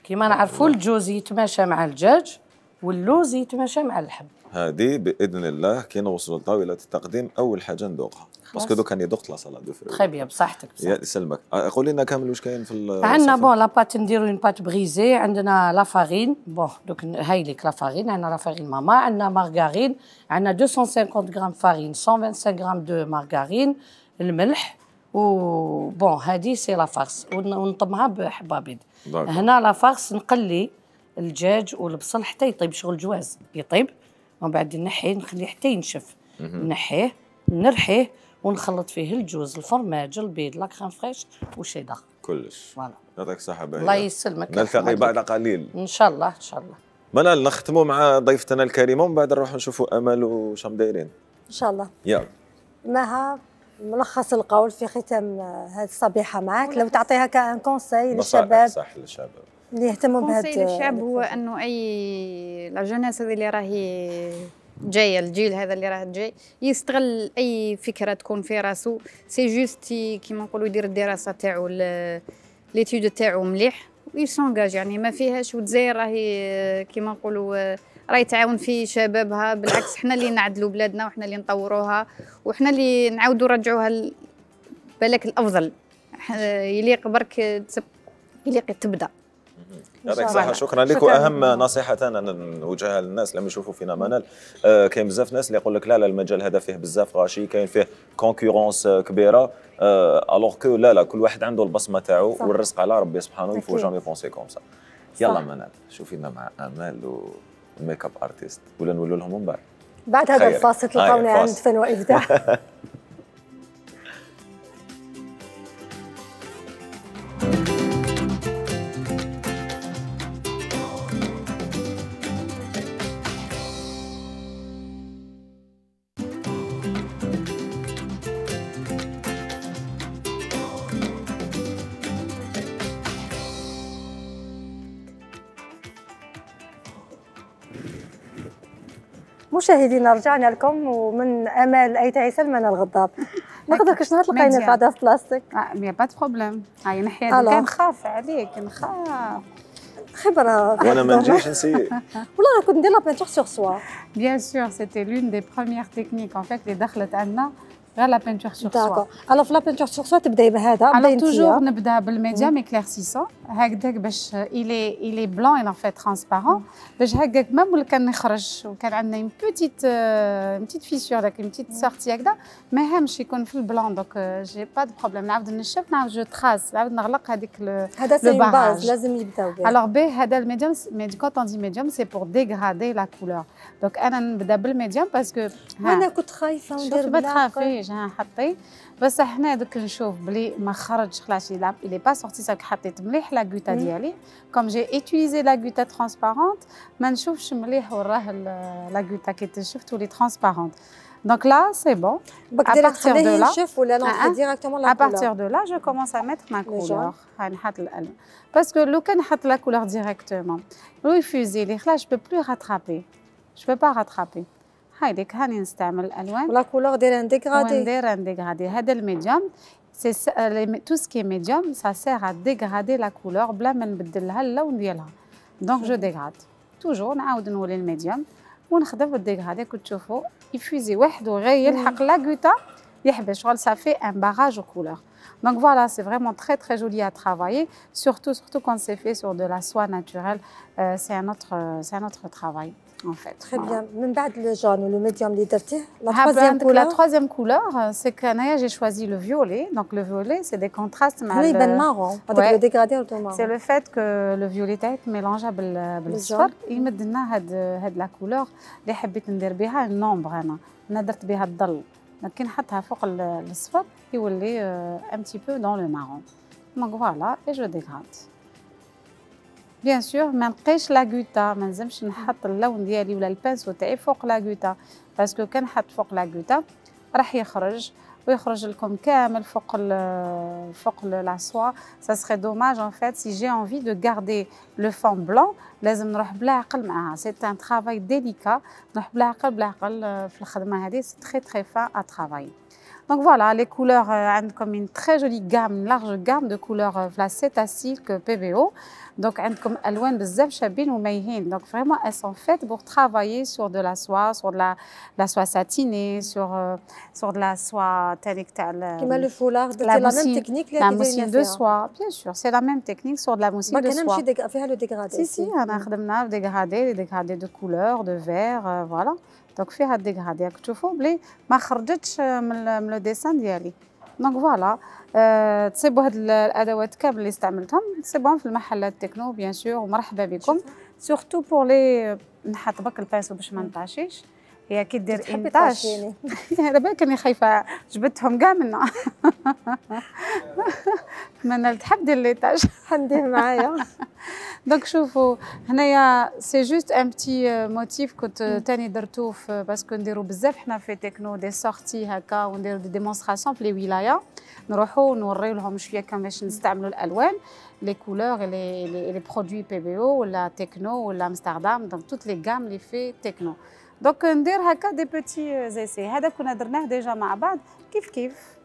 كيما نعرفوا الجوز يتماشى مع الدجاج واللوز يتماشى مع اللحم. هذه باذن الله كي نوصلوا لطاوله التقديم اول حاجه ندوقها باسكو دوك راني ذقت لا سالاد دو فروي. تري بيان بصحتك. يا يسلمك. قولي لنا كامل واش كاين في عندنا بون لا بات نديروا اون بات بريزي. عندنا لا فارين بون دوك هاي لك لا فارين. عندنا لا فارين ماما. عندنا مارغارين. عندنا مئتين وخمسين غرام فارين مئتين وخمسة وخمسين غرام دو مارغارين. الملح و بون هذه سي لا فارس ونطمها بحبه بيض. هنا لا فارس نقلي الدجاج والبصل حتى يطيب شغل جواز يطيب، ومن بعد نحيه نخليه حتى ينشف، نحيه نرحيه ونخلط فيه الجوز الفرماج البيض لا كريم فريش وشيدر كلش. فوالا يعطيك الصحة باهية. الله يسلمك. نلتقي بعد قليل ان شاء الله ان شاء الله. منال نختموا مع ضيفتنا الكريمة ومن بعد نروحوا نشوفوا أمل وشام دايرين ان شاء الله. يلا مها ملخص القول في ختام هذه الصبيحة معك، لو تعطيها كان كونساي للشباب صح للشباب اللي يهتموا بهذا الشعب هو انه اي لا جونيس هذه اللي راهي جايه الجيل هذا اللي راه جاي يستغل اي فكره تكون في راسو، سي جوست كيما نقولوا يدير الدراسه تاعو ليتود تاعو مليح ويسونجاج، يعني ما فيهاش. والجزائر راهي كيما نقولوا راهي تعاون في شبابها، بالعكس حنا اللي نعدلوا بلادنا وحنا اللي نطوروها وحنا اللي نعاودوا نرجعوها بالك الافضل يليق برك يليق تبدا. يعطيك الصحة. شكرا لك. واهم نصيحة انا نوجهها للناس لما يشوفوا فينا منال، آه كاين بزاف ناس اللي يقول لك لا لا المجال هذا فيه بزاف غاشي، كاين فيه كونكورونس كبيرة، الوغ آه كو لا لا كل واحد عنده البصمة تاعو والرزق على ربي سبحانه. يفو جامي بونسي كوم سا. يلا منال شوفينا مع امال والميك اب ارتيست ولا نقولوا لهم من بعد بعد هذا الفاصل تلقاوني عند فن وابداع. مشاهدينا رجعنا لكم ومن امال ايت عيسى لمنى الغضاب. نقدر شنو تلقينا في هذا البلاستيك؟ مي با دو بروبليم. هاي نحيا كان نخاف عليك نخاف خبره وانا ما نجيش نسيي والله كنت ندير لا بانتور سور سوا. بيان سور سيتي لون دي بروميير تكنيك ان فيت اللي دخلت عندنا غير لا بانتور سور سوا. الو في لا بانتور سور سوا تبداي بهذا الو توجور نبدا بالميديوم اكليرسيسون هكذاك باش إلي إلي بلون إلى فيت ترانسبارون باش هكاك ميم ولا كان نخرج وكان عندنا اون بوتيت اون بوتيت فيسور داك اون بوتيت سورتي هكذا ما يهمش يكون في البلون دونك جي با دو بروبليم. نعاود نشف نعاود جو تراس نعاود نغلق هذيك لو هذا سي باز لازم يبداو به. الوغ بي هذا الميديوم ميدي كونت اون دي ميديوم سي بور ديغرادي لا كولور دونك انا نبدا بالميديوم باسكو انا كنت خايفه وندير ما تخافيش ها حطي بس حنا دوك نشوف بلي ما خرج خلاص يلعب إلي با سورتي ساك حطيت مليح لا غوتا ديالي كوم جي ايتيليزي لا غوتا ترانسبارونت ما نشوفش مليح وراه لا غوتا كي تنشف تولي ترانسبارونت دونك لا سي بون. باك دير تخليه ينشف ولا نحط ديريكتومون لا كولور؟ ا بارتير دو لا جو كومونس ا ميتر ما كولور هاي نحط الالوان باسكو لو كان نحط لا كولور ديريكتومون لو يفوزي لي خلاص جو بو بلو راترابي جو بو با راترابي. هايديك هاني نستعمل الالوان ولا كولور دير ان ديغرادي وندير ان ديغرادي. هذا الميديوم سي تو سكي ميديوم سا سير ا ديغرادي لا كولور بلا ما نبدل لها اللون ديالها دونك جو ديغراد توجور نعاود نولي الميديوم ونخدم بالديغرادي كنت تشوفوا يفوزي وحده غير يلحق لا غوتا يحبس شغل ça fait un barrage aux couleurs. Donc voilà, c'est vraiment très très joli à travailler, surtout surtout quand c'est fait sur de la soie naturelle, euh, c'est un autre c'est un autre travail. En fait. Très voilà. Bien. من بعد le jaune ou le médium اللي درتيه la troisième couleur. La troisième couleur, c'est que Naya j'ai choisi le violet. Donc le violet, c'est des contrastes مع le يبان marron. هذاك le dégradé ou marron. C'est le fait que le violet تاعك ميلونجا بالصفر يمد لنا هاد هاد لا كولور اللي حبيت ندير بها النومبر. انا انا درت بها الظل كي نحطها فوق الصفر يولي un petit peu dans le marron. Donc voilà et je dégrade. بيان سور ما نقيش لا غوتا ما نلزمش نحط اللون ديالي ولا البانسو تاعي فوق لا غوتا باسكو كان نحط فوق لا غوتا راح يخرج ويخرج لكم كامل فوق ال فوق لا سوا. ça serait dommage en fait si j'ai envie de garder le fond blanc لازم نروح بلا عقل معها. c'est un travail délicat نروح بلا عقل بلا عقل في الخدمه هذه. c'est très très fin à travailler. Donc voilà, les couleurs, euh, comme une très jolie gamme, une large gamme de couleurs, euh, la Cétacile que P V O. Donc, comme Alwan Bzaf Chabin ou Mayhin. Donc vraiment, elles sont faites pour travailler sur de la soie, sur de la, la soie satinée, sur, euh, sur de la soie telle que Comme le foulard, c'est la même technique. La mousseline de soie, bien sûr, c'est la même technique sur de la mousseline de soie. Faire le dégradé. Si, si, on a fait le dégradé, les dégradés de couleurs, de vert, euh, voilà. Donc فيها الديغرادي راك تشوفوا بلي ما خرجتش من لو ديسان ديالي دونك فوالا تصيبوا هاد الادوات كامل اللي استعملتهم تصيبوهم في المحلات تكنو بيان سور ومرحبا بكم سورتو بور لي نحط برك الباسو باش ما نطاشيش هي كي دير انطاش على بالك اني خايفه جبدتهم كاع منا من تحب دير ليطاج حنديه معايا دونك شوفوا هنايا سي جوست ان بتي موتيف كنت تاني درتو باسكو نديرو بزاف حنا في تكنو دي سورتي هكا ونديرو دي ديمونستراسيون في لي ولايه نروحوا نوريو لهم شويه كيفاش نستعملوا الالوان لي كولور لي لي برودوي بي بي او ولا تكنو ولا امستردام دونك توت لي غام لي في تكنو دونك ندير هكا دي بوتي زيسي هذا كنا درناه ديجا مع بعض كيف كيف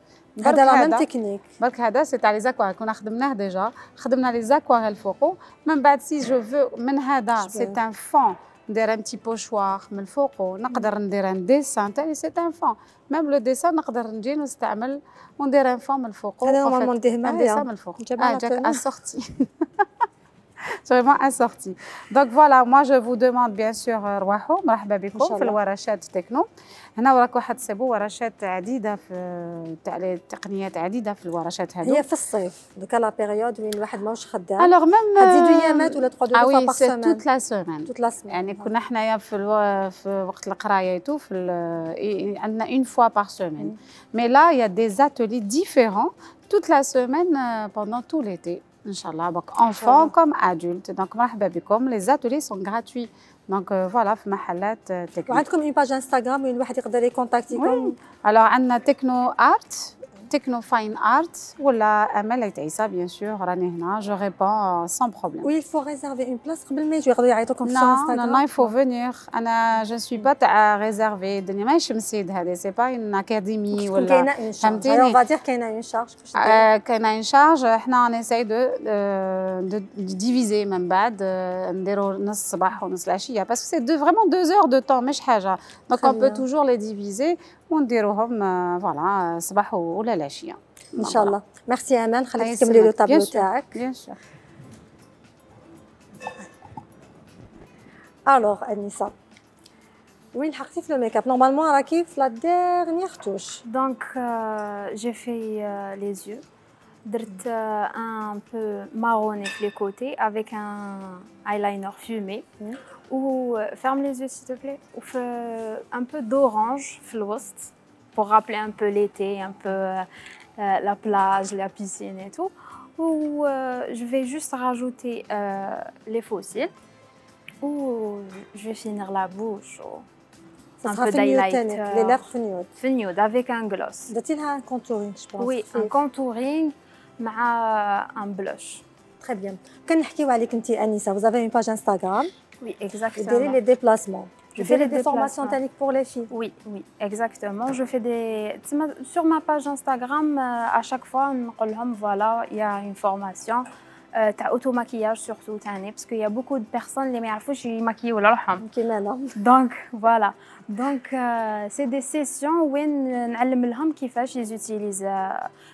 هذا لا ميم تكنيك برك هذا سي تاع لي زاكواريل كنا خدمناه ديجا خدمنا لي زاكواريل فوقو من بعد سي جو فو من هذا سي ان فون ندير ان تي بوشوار من فوقو نقدر ندير ان ديسان تاعي سي ان فون ميم لو ديسان نقدر نجي نستعمل وندير ان فون من فوقو هذا نورمالمون نديه معايا ديسان من الفوق اه جاك اسورتي vraiment assorti. Donc voilà, moi je vous demande bien sûr روحوا مرحبا بكم في الورشات تكنو. هنا وراك واحد سيبو ورشات عديده في تاع التقنيات عديده في الورشات هذو. هي في الصيف دوكا لا بيريود وين الواحد ماهوش خدام. الوغ ميم تزيدوا ايامات ولا تقعدوا دو فوا باغ سيمين. توت لا سيمين. توت لا سيمين. يعني كنا حنايا في الو... في وقت القرايه تو في عندنا اون فوا باغ سيمين. مي لا يا دي زاتولي ديفيرون توت لا سيمين بوندون تو ليتي. ان شاء الله donc enfants comme adultes donc مرحبا بكم les ateliers sont gratuits donc voilà في محلات تكنو وعندكم اون باج انستغرام وين الواحد يقدر يكونتاكتيكم alors عندنا تكنو ارت تكنو فاين ارت ولا امل عيسى بيان سور راني هنا جو ريبون سون بروبليم وي فو ريزيرفي اون بلاص قبل ما يجوا يقدروا يعيطوكم في انستغرام نو نو يفو فينير انا جو سوي با تاع ريزيرفي الدنيا ماهيش مسيد هذه سي با اون اكاديمي ولا كاينه اون شارج اون فادير كاينه اون شارج كاينه اون شارج حنا نساي دو دو ديفيزي من بعد نديروا نص الصباح ونص العشيه باسكو سي دو فريمون دو زور دو طون مش حاجه دونك اون بو توجور لي ديفيزي ونديروهم فوالا الصباح ولا العشيه ان شاء الله. ميرسي امان خليك تكملي لو طابلو تاعك. بيان سور. الوغ انيسه وين حقتي في لو ميك اب نورمالمون راكي في لا ديرنيير توش دونك جي في لي زيو درت ان بو ماروني في لي كوتي افيك ان ايلاينر فومي و ferme les yeux s'il te plaît ou un peu d'orange في الوسط pour rappeler un peu l'été un peu euh, la plage la piscine et tout ou euh, je vais juste rajouter euh, les faux cils ou je vais finir la bouche ou un peu d'highlight les lèvres nude nude avec un gloss درتي لها un contouring je pense oui un contouring مع un blush très bien كنحكيو عليك انت انيسه vous avez une page Instagram. Oui, exactement. Vous dérivez les déplacements. Je fais des formations techniques pour les filles. Oui, oui, exactement. Je fais des sur ma page Instagram à chaque fois on leur voilà, il y a une formation تاع auto maquillage surtout تاني parce qu'il y a beaucoup de personnes اللي ما يعرفوش يماكيو ولا روحهم كيما انا. Donc voilà. Donc euh, c'est des sessions وين نعلم لهم كيفاش يوتيليز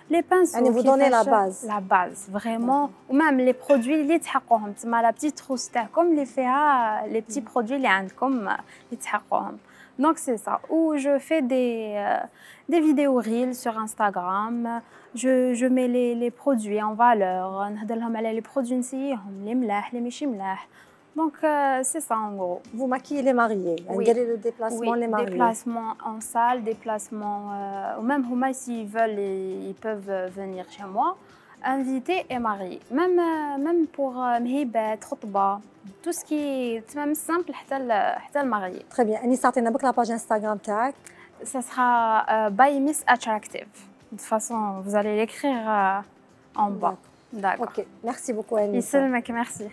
لي بانسو يعني vous donnez la base. La base vraiment ومام لي برودوي اللي تحقوهم تما لا بتيت تروس تاعكم اللي فيها لي بتي برودوي اللي عندكم اللي تحقوهم. Donc c'est ça. Ou je fais des euh, des vidéos reels sur Instagram. Je je mets les les produits en valeur. نهضر لهم على les produits نسيهم اللي ملاح اللي ماشي ملاح. Donc euh, c'est ça en gros. Vous maquillez les mariés. Oui. Vous le déplacement Oui, les mariés. Déplacement en salle, déplacement euh, ou même huma s'ils veulent ils, ils peuvent venir chez moi. Invité et marié. Même euh, même pour مهيبات خطبة tout ce qui est même simple حتى ل حتى المarié. Très bien. أني صعطينا بك la page Instagram تاعك. Ça sera euh, by Miss Attractive. De toute façon vous allez l'écrire euh, en bas. D'accord. Ok. Merci beaucoup Anissa. يسلمك merci.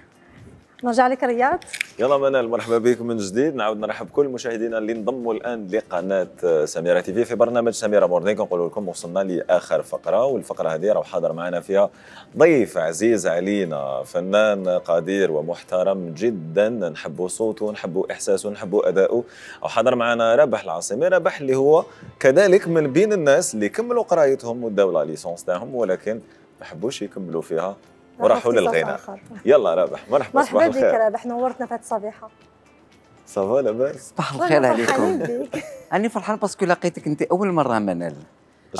نرجع لك رياض. يلا منال مرحبا بكم من جديد. نعاود نرحب بكل مشاهدينا اللي انضموا الان لقناه سميره تي في في برنامج سميره مورنينغ. كنقول لكم وصلنا لاخر فقره والفقره هذه راه حاضر معنا فيها ضيف عزيز علينا فنان قدير ومحترم جدا نحبوا صوته نحبوا احساسه نحبوا اداؤه. وحاضر معنا رابح العاصمي. رابح اللي هو كذلك من بين الناس اللي كملوا قرايتهم وداو لا ليسونس تاعهم ولكن ما حبوش يكملوا فيها وراحوا للغناء. يلا رابح مرحبا. مرحبا بك رابح نورتنا في هذه الصبيحه. صافا لاباس. صباح الخير عليكم. راني فرحان باسكو لقيتك انت اول مره منال.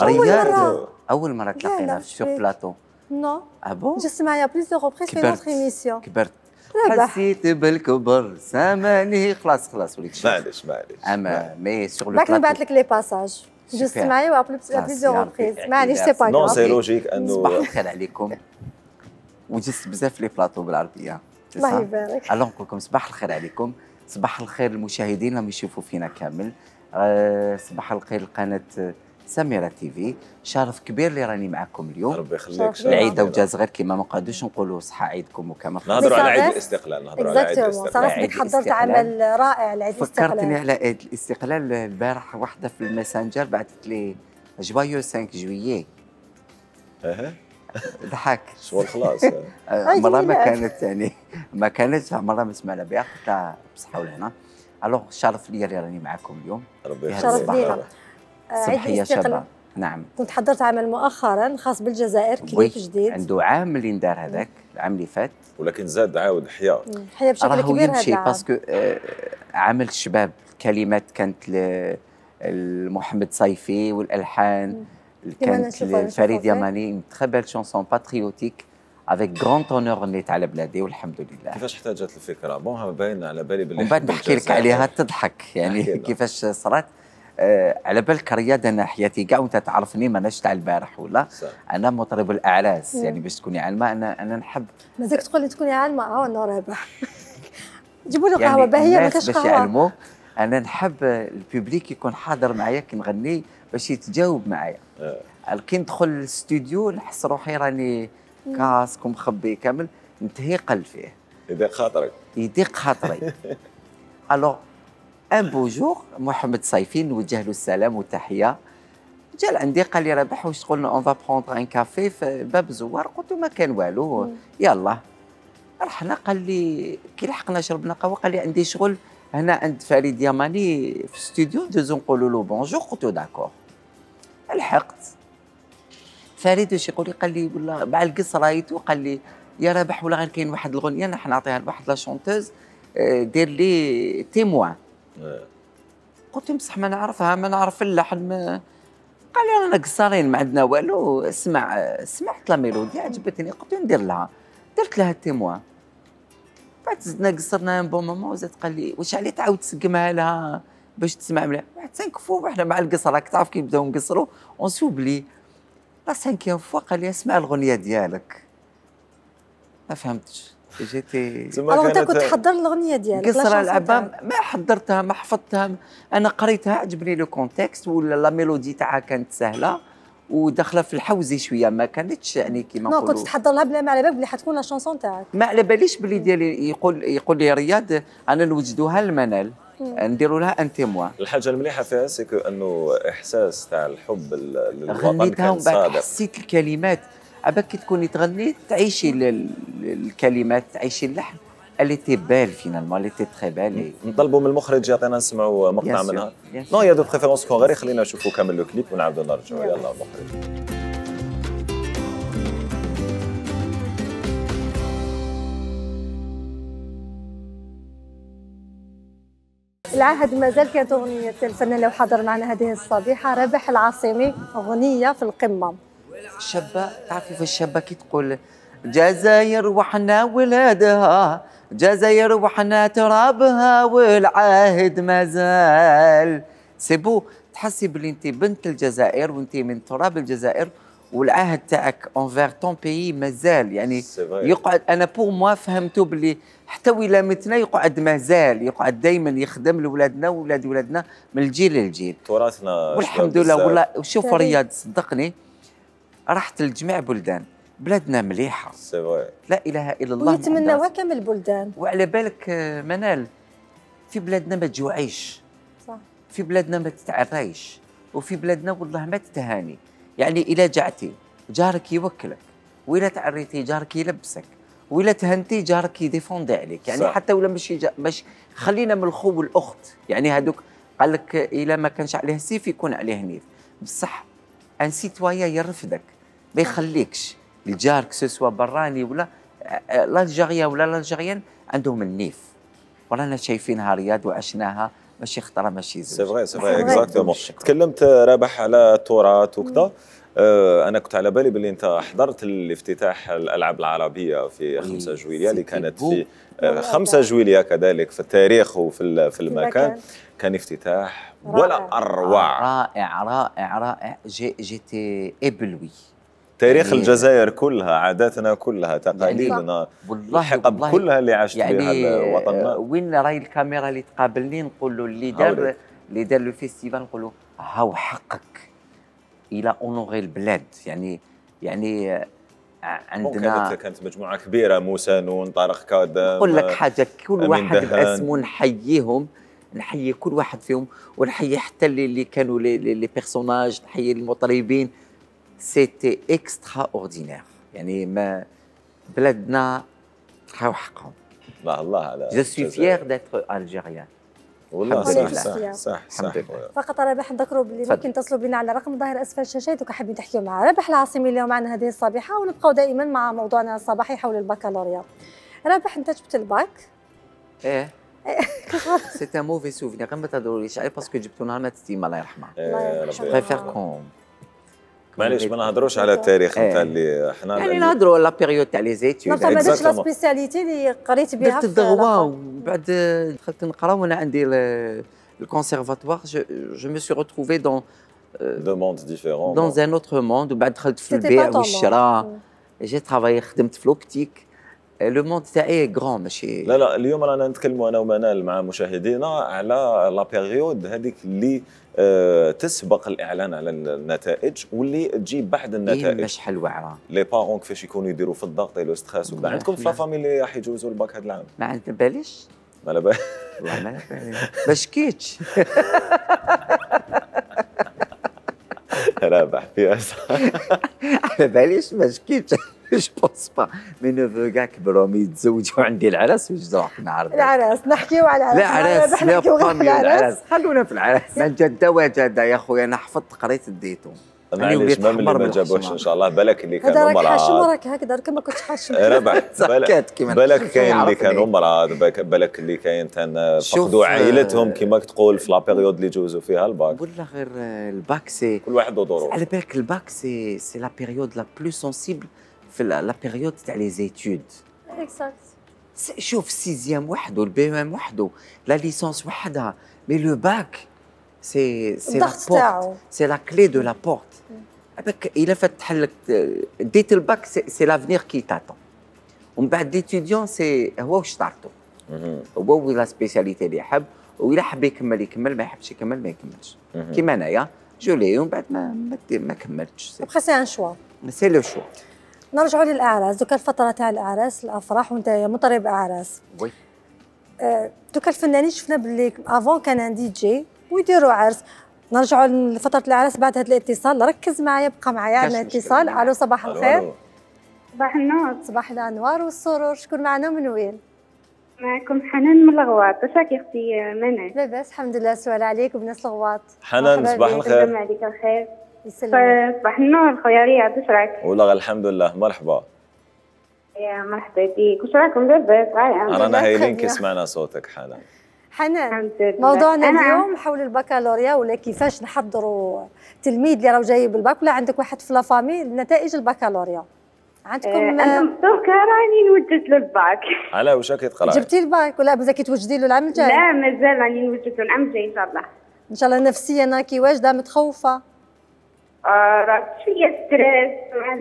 اول مره اول مره تلاقينا في بلاطو. نو اه بون جست معايا بليز دو روبريز في نوتر ايميسيون. كبرت ربح. حسيت بالكبر ساماني خلاص خلاص وليت شيء. معليش معليش. اما مي سور لو بعد نبعث لك لي باساج جست معايا وابليز دو روبريز. معليش سي با نو سي لوجيك انه صباح الخير عليكم. وجست بزاف لي بلاطو بالعربيه. الله يبارك. الو نقول لكم صباح الخير عليكم، صباح الخير المشاهدين اللي يشوفوا فينا كامل. أه صباح الخير لقناه سميرة تيفي، شرف كبير اللي راني معكم اليوم. ربي يخليك. العيد وجاز غير كيما ما نقعدوش نقولوا صحة عيدكم وكما نهضروا على عيد الاستقلال. نهضروا على عيد الاستقلال. صراحة حضرت عمل رائع لعيد الاستقلال. فكرتني على عيد الاستقلال البارح، واحدة في الماسنجر بعثت لي جوايو خمسة جويي. اها ضحك شغل خلاص. مرة ما كانت يعني ما كانتش مرة ما سمعنا بها، قلت لها بصحة ولهنا. الوغ شرف لي اللي راني معكم اليوم. ربي يخليك. شرف لينا. صباحية شابة. نعم كنت حضرت عمل مؤخرا خاص بالجزائر كليب جديد. عنده عام اللي ندار هذاك العام اللي فات، ولكن زاد عاود حيا حيا بشكل كبير. راهو يمشي باسكو آه عمل الشباب، الكلمات كانت لمحمد صيفي والالحان كانت لفريد يماني، تري بيل شونسون باتريوتيك افيك غران اونور نيت على بلادي والحمد لله. كيفاش احتاجت الفكره؟ بون باين على بالي باللي ومن بعد نحكي لك عليها تضحك يعني كيفاش صرات. آه على بالك رياضه انا حياتي كاع وانت تعرفني ماناش تاع البارح ولا صح. انا مطرب الاعراس يعني باش تكوني عالمه. انا انا نحب مازالك تقول لي تكوني عالمه. اه انا رابح جيبوا له قهوه باهيه ما كاش قهوه باش يعلموا. انا نحب البوبليك يكون حاضر معايا كي نغني باش يتجاوب معايا. آه. كي ندخل الاستوديو نحس روحي راني كاسك ومخبي كامل، نتهيقل فيه يضيق خاطرك يضيق خاطري. الوغ ان بو جور محمد صيفي نوجه له السلام والتحيه، جا عندي قال لي رابح واش تقول اون فا بروندر ان كافي في باب زوار. قلت له ما كان والو يلا رحنا. قال لي كي لحقنا شربنا قهوه قال لي عندي شغل هنا عند فريد يماني في الاستوديو دوزو نقولوا له بونجور. قلت له داكور. لحقت فريد واش يقول لي؟ قال لي والله مع القص رايته قال لي يا رابح ولا غير كاين واحد الغنيه نحن نعطيها لواحد لا شونتوز دير لي تيموان. قلت له بصح ما نعرفها ما نعرف اللحن. ما قال لي رانا قصارين ما عندنا والو. اسمع سمعت لا ميلودي عجبتني قلت له ندير لها. درت لها التيموان. بعد زدنا قصرنا ان بون مومون وزاد قال لي واش علي تعاود تسقمها لها باش تسمع مليح. واحد سانك فوا وحنا مع القصر راك تعرف كي نبداو نقصروا اون سوبلي. لا سانكيام فوا قال لي اسمع الغنيه ديالك. ما فهمتش جيتي. الوغ انت كنت تحضر الاغنيه ديالك؟ قصرة العبا ما حضرتها ما حفظتها. انا قريتها عجبني لو كونتكست ولا لا ميلودي تاعها كانت سهله وداخله في الحوزي شويه ما كانتش يعني كيما نقولوا. كنت تحضر لها بلا ما على بالك بلي حتكون لا شونسون تاعك. ما على باليش بلي ديالي يقول يقول لي رياض انا نوجدوها المنال نديروا لها ان تيموان. الحاجه المليحه فيها سيكو انه احساس تاع الحب للوطن غنيتها كان صادق. حسيت الكلمات عباك كي تكوني تغني تعيشي الكلمات تعيشي اللحن. اللي تي بال فينالمون اللي تي تري بال. نطلبوا من المخرج يعطينا نسمعوا مقطع منها. نو يا دو بريفيرونس كون غير خلينا نشوفوا كامل لو كليب ونعاودوا نرجعوا. يلا المخرج. العهد مازال كانت اغنيه الفنان اللي حضر معنا هذه الصبيحه رابح العاصمي، اغنيه في القمه. الشابه تعرفي في الشابه كي تقول جزائر وحنا ولادها جزائر وحنا ترابها والعهد مازال. سي بو تحسي بلي انت بنت الجزائر وانت من تراب الجزائر والعهد تاعك انفير طون بيي مازال يعني يقعد. انا بور موا فهمتو بلي حتى ولا متنا يقعد مازال يقعد دائما يخدم لولادنا وولاد ولادنا من الجيل للجيل. تراثنا والحمد لله. والله شوف رياض صدقني رحت لجميع بلدان بلادنا مليحه. سي فري. لا اله الا الله. ويتمناوها كامل البلدان. وعلى بالك منال في بلادنا ما تجوعيش. صح. في بلادنا ما تتعريش وفي بلادنا والله ما تتهاني. يعني إلا جعتي جارك يوكلك وإلا تعريتي جارك يلبسك وإلا تهنتي جارك يديفوندي عليك. يعني صح. حتى ولا ماشي مش خلينا من الخو والأخت. يعني هذوك قال لك إلا ما كانش عليه سيف يكون عليه نيف. بصح ان سيتوايا يرفدك ما يخليكش الجار كسوسوا براني ولا الجزائريه ولا الجزائريين عندهم النيف. ورانا شايفينها رياض وعشناها ماشي خطره ماشي زوج. سي فري سي فري اكزاكتومون. تكلمت رابح على التراث وكذا. آه انا كنت على بالي باللي انت حضرت الافتتاح الالعاب العربيه في خمسة جويلية اللي كانت في آه خمسة جويلية كذلك في التاريخ وفي في المكان. كان افتتاح ولا اروع. رائع رائع رائع. جي جيتي ابلوي. تاريخ يعني الجزائر كلها، عاداتنا كلها، تقاليدنا، والله الحقب كلها اللي عاشت يعني بها وطننا. وين راهي الكاميرا اللي تقابلني نقول له اللي دار اللي دار لو فيستيفال نقول له هاو حقك الى اونوري البلاد. يعني يعني عندنا كانت كانت مجموعه كبيره، موسى نون، طارق كادم، نقول لك حاجه كل واحد باسمه نحييهم، نحيي كل واحد فيهم ونحيي حتى اللي, اللي كانوا لي, لي بيرسوناج، نحيي المطربين. سيتي اكسترا اوردينير. يعني ما بلادنا هاو حقهم. الله الله على جو سوي فيير داتر الجيريان. والله صح صح صح صح. فقط رابح نذكروا باللي ممكن تصلوا بنا على رقم ظاهر اسفل الشاشه اذا حابين تحكيوا مع رابح العاصمي اليوم معنا هذه الصباحه، ونبقاو دائما مع موضوعنا الصباحي حول البكالوريا. رابح انت جبت الباك؟ ايه سي ان موفي سوفينير. ما تهضروليش عليه باسكو جبتو نهار ما تستيما الله يرحمها. بريفير كون معليش ما نهضروش على التاريخ نتاع اللي حنا يعني نهضروا لا بيريود تاع لي زيتود. ما درتش لا سبيسياليتي اللي قريت بها درت الدغوا ومن بعد دخلت نقرا وانا عندي الكونسيرفاتوار. جو مي سوي روتروفي دون دو موند ديفيرون دون ان اوتر موند. وبعد دخلت في البيع والشراء. جي ترافاي خدمت في لوبتيك. لو موند تاعي غران ماشي. لا لا اليوم رانا نتكلموا انا ومنال مع مشاهدينا على لا بيريود هذيك اللي أه تسبق الاعلان على النتائج واللي تجي بعد النتائج. إيه مش حلوه عرا. لي بارون كيفاش يكونوا يديروا في الضغط لو ستريس وكذا. عندكم في لا فامي اللي راح يجوزوا الباك هذا العام؟ ما عند باليش. ما على بالي والله ما على بالي ما شكيتش. رابح في على باليش ما شكيتش. جو بونس با مي نوفو كاع كبروا يتزوجوا عندي العراس واش راح نعرف العراس. نحكيو على العراس. لا عراس لا فامي العراس خلونا في العراس. ما جده وجده يا خويا انا حفظت قريت اديتو. معليش ما اللي ما جابوش ان شاء الله. بالك اللي كانوا مرض. هذا راك حاشم وراك هكذا كما كنت حاشم. ربح بالك كاين اللي كانوا مرض. بالك اللي كاين فقدوا عائلتهم كما تقول في لا بيريود اللي جوزوا فيها الباك. ولا غير الباك سي كل واحد وظروفه. على بالك الباك سي سي لا بيريود لا بلو سونسيبل في لا بيريود تاع لي زيتود. اكزاكت. شوف سيزيام وحده، البي ام وحده، لا ليسونس وحدها، مي لو باك سي سي لا بورت، سي لا كلي دو لا بورت. هذاك الا فتح لك ديت الباك سي لافنيغ كي تاتون. ومن بعد ليتيديون سي هو واش طارتو. هو لا سبيسياليتي اللي يحب، وإلا حب يكمل يكمل، ما يحبش يكمل ما يكملش. كيما انايا جولي ومن بعد ما ما, ما كملتش. ابخي سي ان شوا. سي لو شوا. نرجعوا للاعراس. دوكا الفتره تاع الاعراس الافراح وانت مطرب اعراس. وي. أه دوكا الفنانين شفنا باللي افون كان ان دي جي ويديروا عرس. نرجعوا لفتره الاعراس بعد هذا الاتصال. ركز معايا بقى معايا. عندنا اتصال. الو صباح الخير. صباح النور. صباح الانوار والسرور. شكون معنا من وين؟ معكم حنان من الغواط. واش راكي اختي منى؟ لاباس الحمد لله. سؤال عليك وبناس الغواط. حنان صباح الخير. يسلم عليك الخير. يسلمك. صباح النور خويا رياض. واش راك؟ والله الحمد لله. مرحبا. يا مرحبا بك. واش راكم لاباس؟ رانا هايلين كي سمعنا صوتك حنان. حنان موضوعنا اليوم حول البكالوريا ولا كيفاش نحضروا تلميذ اللي راه جاي بالباك ولا عندك واحد في لافامي نتائج البكالوريا. عندكم انا دوكا راني نوجد له الباك. على واش راكي تقراي؟ جبتي الباك ولا مازال كتوجدي له العام الجاي؟ لا مازال راني نوجد له العام الجاي ان شاء الله. ان شاء الله. نفسيا راكي واجده متخوفه؟ آه راه شويه ستريس مع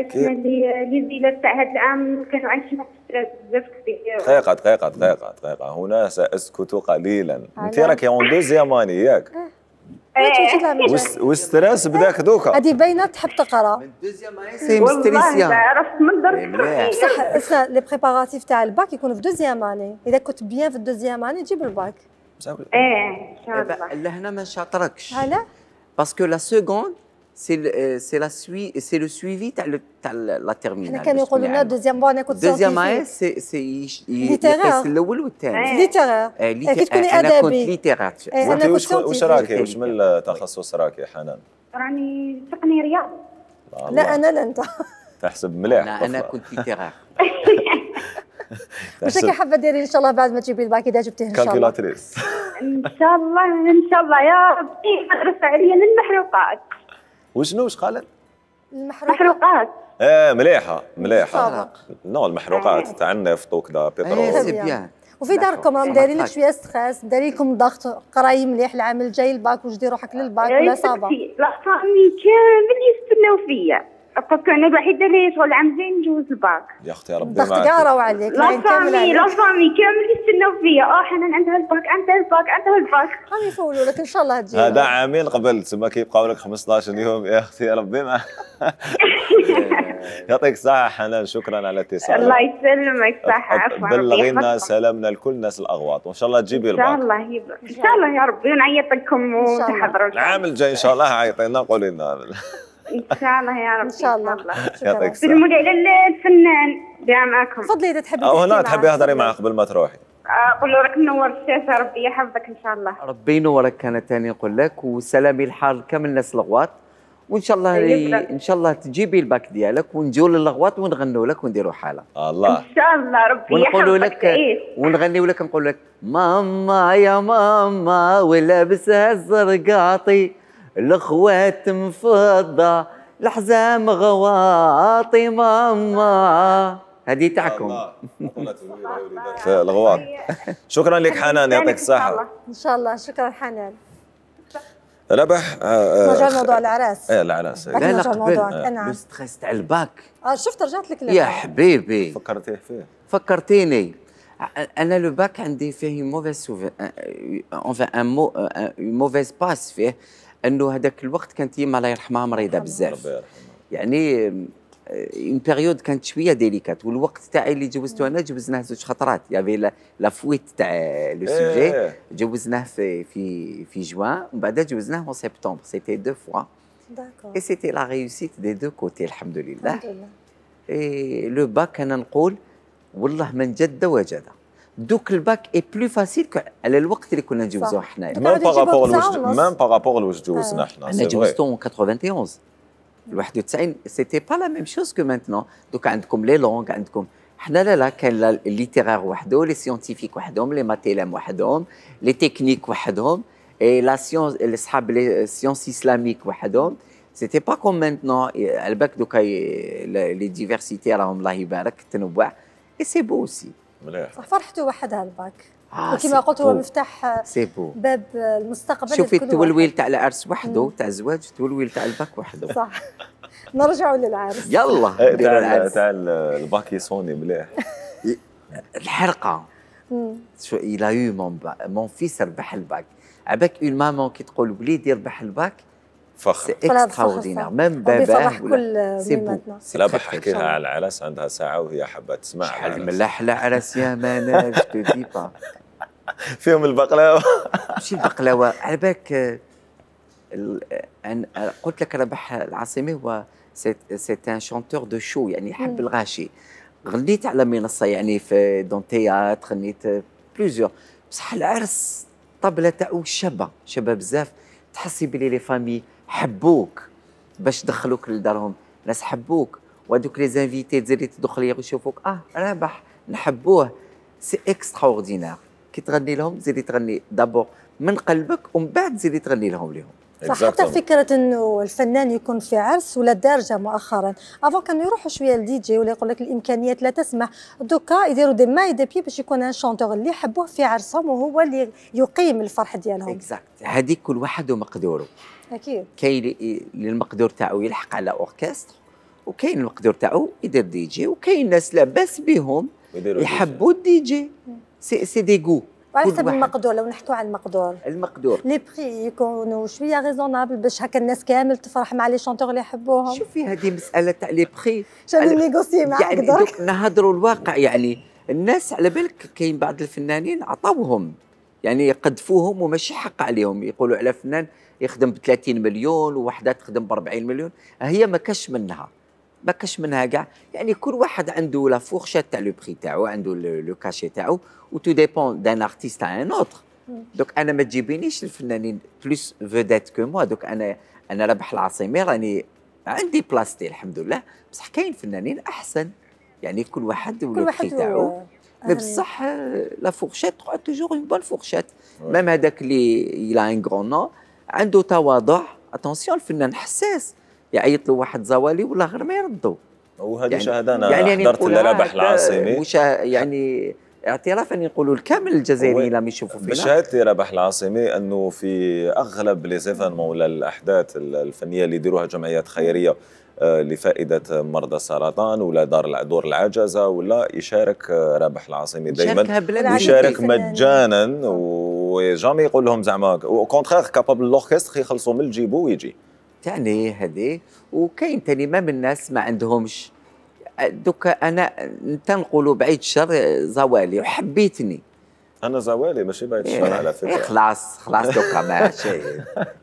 كيما اللي لي زيلات تاع هذا العام كانوا عايشين واحد ستريس بزاف كبير. دقيقه دقيقه دقيقه دقيقه هنا ساسكت قليلا. انت راكي اون دوزيام اني ياك؟ والستريس بداك دوكا. هذه باينه تحب تقرا. من دوزيام اني سي مستريسيا. والله عرفت من درت. بصح اسمع لي بريباراتيف تاع الباك يكونوا في دوزيام اني. اذا كنت بيان في الدوزيام اني تجيب الباك. ايه ان شاء الله. لهنا ما شاطركش. علاه؟ باسكو لا سكوند سي سي لا سوي سي لو سويفي تاع تاع لا تيرمينال. حنا كانوا يقولوا لنا دوزيام بون انا كنت دوزيام اي سي سي يقيس الاول والثاني. ليتيرير. كي تكوني ادبي. انا كنت ليتيرير. وانت واش واش راكي واش من التخصص راكي حنان؟ راني تقني رياض. لا انا لا انت. تحسب مليح. انا انا كنت ليتيرير. واش راكي حابه ديري ان شاء الله بعد ما تجيبي الباك اذا جبتيه ان شاء الله؟ كالكولاتريس. ان شاء الله ان شاء الله يا ربي مدرسه عليا للمحروقات. وشنو واش قالت؟ المحروقات ايه مليحه مليحه. صافا. نو المحروقات تاع النفط وكذا ايه بترول. سي بيان. وفي داركم راهم دايرين لك شويه ستريس، دايرين لكم ضغط، قراي مليح العام الجاي الباك واش دير روحك للباك ولا صافا؟ لا فامي كامل يستناو فيا، باسكو انا الوحيده اللي شغل العام الجاي نجوز الباك. يا اختي ربي الضغط معك. كاع راهو عليك. لا فامي لا فامي كامل يستناو فيا، اه حنان عندها الباك عندها الباك عندها الباك. راهم يفولوا لك ان شاء الله تجي. هذا عامين قبل تما كيبقاو لك خمسطاش يوم يا اختي ربي معك. يعطيك الصحة حنان، شكرا على الاتصال. الله يسلمك، صحة عفوا. بلغينا سلامنا لكل الناس الأغواط وإن شاء الله تجيبي الباك. إن شاء الله يب... إن شاء الله يا ربي ونعيط لكم وتحضروا. العام الجاي إن شاء الله عيطينا قولي لنا. إن شاء الله يا ربي. إن شاء الله. يعطيك الصحة. سلموا لي على الفنان اللي معاكم. تفضلي إذا تحبي. أو هنا تحبي تهضري معاه قبل ما تروحي. قول له راك منور الشاشة، ربي يحفظك إن شاء الله. ربي ينورك. انا تاني نقول لك وسلامي الحار كامل الناس الغواط، وان شاء الله ان شاء الله تجيبي الباك ديالك ونجيو للغواط ونغنوا لك ونديروا حاله. الله ان شاء الله ربي ونقولوا يحفظك. لك ونغنيو لك نقول لك ماما يا ماما ولابسها الزرقاطي، الاخوات مفضه الحزام غواطي ماما. هذه تاعكم. في الغواط. شكرا لك حنان، يعطيك الصحة. ان شاء الله. شكرا حنان. ربح. نرجع لموضوع العراس. ايه العراس. لا لا قبل نعم. لو ستريس تاع الباك. اه شفت رجعت لك يا حبيبي فكرتيه فيه. فكرتيني. انا لو باك عندي فيه موفيز سوفي اونفان ان مو موفيز باس فيه، انه هذاك الوقت كانت يما الله يرحمها مريضه بزاف، يعني اون بيريود كانت شويه ديليكات، والوقت تاعي اللي جوزته انا جوزناه زوج خطرات، يافي لا فويت تاع لو سوجي جوزناه في في في جوان ومن بعد جوزناه في سبتمبر، سيتي دو فوا. داكور. اي سيتي لا ريوسيت دي دو كوتي الحمد لله. الحمد لله. اي لو باك انا نقول والله من جد وجد. دوك الباك اي بلو فاسيل على الوقت اللي كنا نجوزوه حنايا. ميم بارابور لواش ميم بارابور لواش جوزنا حنا. انا جوزته واحد وثمانين واحد وتسعين سيتي با لا ميم شوز كو مانتنون. دوك عندكم لي لونغ، عندكم حنا لا لا كان الليتيرير وحده، لي سيونتيفيك وحدهم، لي ماتيلام وحدهم، لي تكنيك وحدهم، اي لا سيونس اصحاب لي سيونس اسلاميك وحدهم. سيتي با كوم مانتنون. على بالك دوكا لي ديفيرسيتي راهم الله يبارك التنوع اي سي بو اوسي. مليح. صح فرحته وحدها الباك. آه وكما قلت هو مفتاح باب المستقبل. شوفي التولويل تاع العرس وحده، تاع الزواج، التولويل تاع الباك وحده. صح. نرجعوا للعرس. يلا تاع العرس تاع الباك يصوني مليح. الحرقه. شو إلا يو مون مون فيس ربح الباك. عباك اون مامون كي تقول وليدي ربح الباك فخر. سي اكستراوردينير ميم باباه ولا سي بو. لا بحكي لها على العرس عندها ساعة وهي حابة تسمع. شحال من احلى عرس يا مانا جو تو دي با. فيهم البقلاوة. ماشي البقلاوة، على بالك قلت لك ربح العاصمي هو سي ان شونتور دو شو، يعني يحب الغاشي. غنيت على منصة يعني في دون تياتر، غنيت بليزيور، بصح العرس الطبلة تاعو شابة شابة بزاف، تحسي بلي لي فامي حبوك باش دخلوك لدارهم، ناس حبوك، وهذوك لي زانفيتي تزيدي تدخل يشوفوك اه رابح نحبوه. سي اكستراوردينير كي تغني لهم تزيدي تغني دابور من قلبك ومن بعد تزيدي تغني لهم ليهم. صح. حتى فكره انه الفنان يكون في عرس ولا دارجه مؤخرا، افون كانوا يروحوا شويه للدي جي ولا يقول لك الامكانيات لا تسمح، دوكا يديروا دي ماي دي بي باش يكون ان شونتور اللي يحبوه في عرسهم وهو اللي يقيم الفرح ديالهم. اكزاكت. هذيك كل واحد ومقدوره. اكيد. كاين اللي المقدور تاعو يلحق على اوركستر، وكاين المقدور تاعو يدير دي جي، وكاين ناس لاباس بهم يحبوا الدي جي. سي سي دي غو. وعلى حسب المقدور. لو نحكوا على المقدور المقدور لي بري يكونوا شويه ريزونابل باش هكا الناس كامل تفرح مع لي شونتور اللي يحبوهم. شوفي هذه مساله تاع لي بري شنو نيغوسي معاك يعني دوك نهضروا الواقع. يعني الناس على بالك كاين بعض الفنانين عطاوهم يعني يقدفوهم وماشي حق عليهم، يقولوا على فنان يخدم ب ثلاثين مليون ووحده تخدم ب أربعين مليون، هي ما كاش منها ما كاش منها كاع. يعني كل واحد عنده لا فورشات تاع لو بري تاعو، عنده لو كاشي تاعو، و تو ديبون دان ارتيست تاع ان اوتر. دوك انا ما تجيبينيش الفنانين بلوس فيدات كو موا. دوك انا انا ربح العاصمي راني عندي بلاصتي الحمد لله، بصح كاين فنانين احسن، يعني كل واحد ولو بري تاعو. مي بصح لا فورشات تقعد توجور اون بون فورشات. ميم هذاك اللي يلا ان غرون نو عنده تواضع. اتونسيون الفنان حساس، يعيط له واحد زوالي ولا غير ما يردوا. وهذه يعني شهاده انا يعني حضرت لرابح العاصمي وشا يعني اعترافا يقولوا الكامل الجزائريين لم يشوفوا فينا. بشهادتي رابح العاصمي انه في اغلب لي زيفينمون ولا الاحداث الفنيه اللي يديروها جمعيات خيريه لفائده مرضى السرطان ولا دار دور العجزه ولا يشارك رابح العاصمي دائما، يشارك مجانا وجامي يقول لهم زعما كونترير كابابل لوركستر يخلصوا من جيبو ويجي. تعني هذه. وكاين ثاني ما من الناس ما عندهمش دوكا. انا تنقولوا بعيد الشر زوالي وحبيتني انا زوالي ماشي بعيد الشر على فكره. إيه خلاص خلاص دوكا ماشي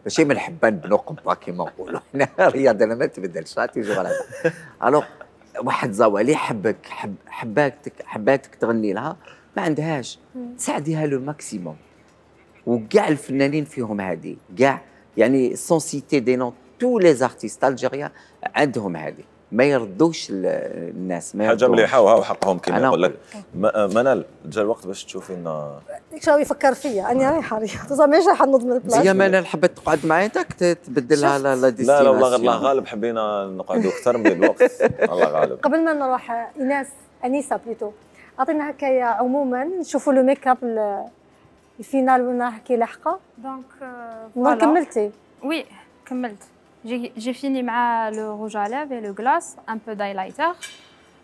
ماشي من حبان بنو قبه كيما نقولوا حنا الرياضه ما تبدلش تيجي على الوغ. واحد زوالي حبك حب حباتك حباتك تغني لها ما عندهاش تساعديها لو ماكسيموم. وكاع الفنانين فيهم هذه كاع يعني سون سيتي دي نون تو لي زارتيست الجيريان عندهم هذه ما يردوش الناس. ما حاجه مليحه وها حقهم كيما نقول لك. منال جا الوقت باش تشوفي لنا ديك شنو يفكر فيا اني رايحه رياض ماشي راح نوض من البلاصه. يا منال حبت تقعد معايا تبدلها لا لا لا لا والله الله غالب حبينا نقعدوا اكثر من الوقت الله غالب. قبل ما نروح ايناس انيسه بليتو اعطينا هكايا عموما نشوفوا لو ميك اب الفينال وين كي لاحقه. دونك ما كملتي؟ وي كملت. J'ai, j'ai fini avec le rouge à lèvres et le glace, un peu d'highlighter.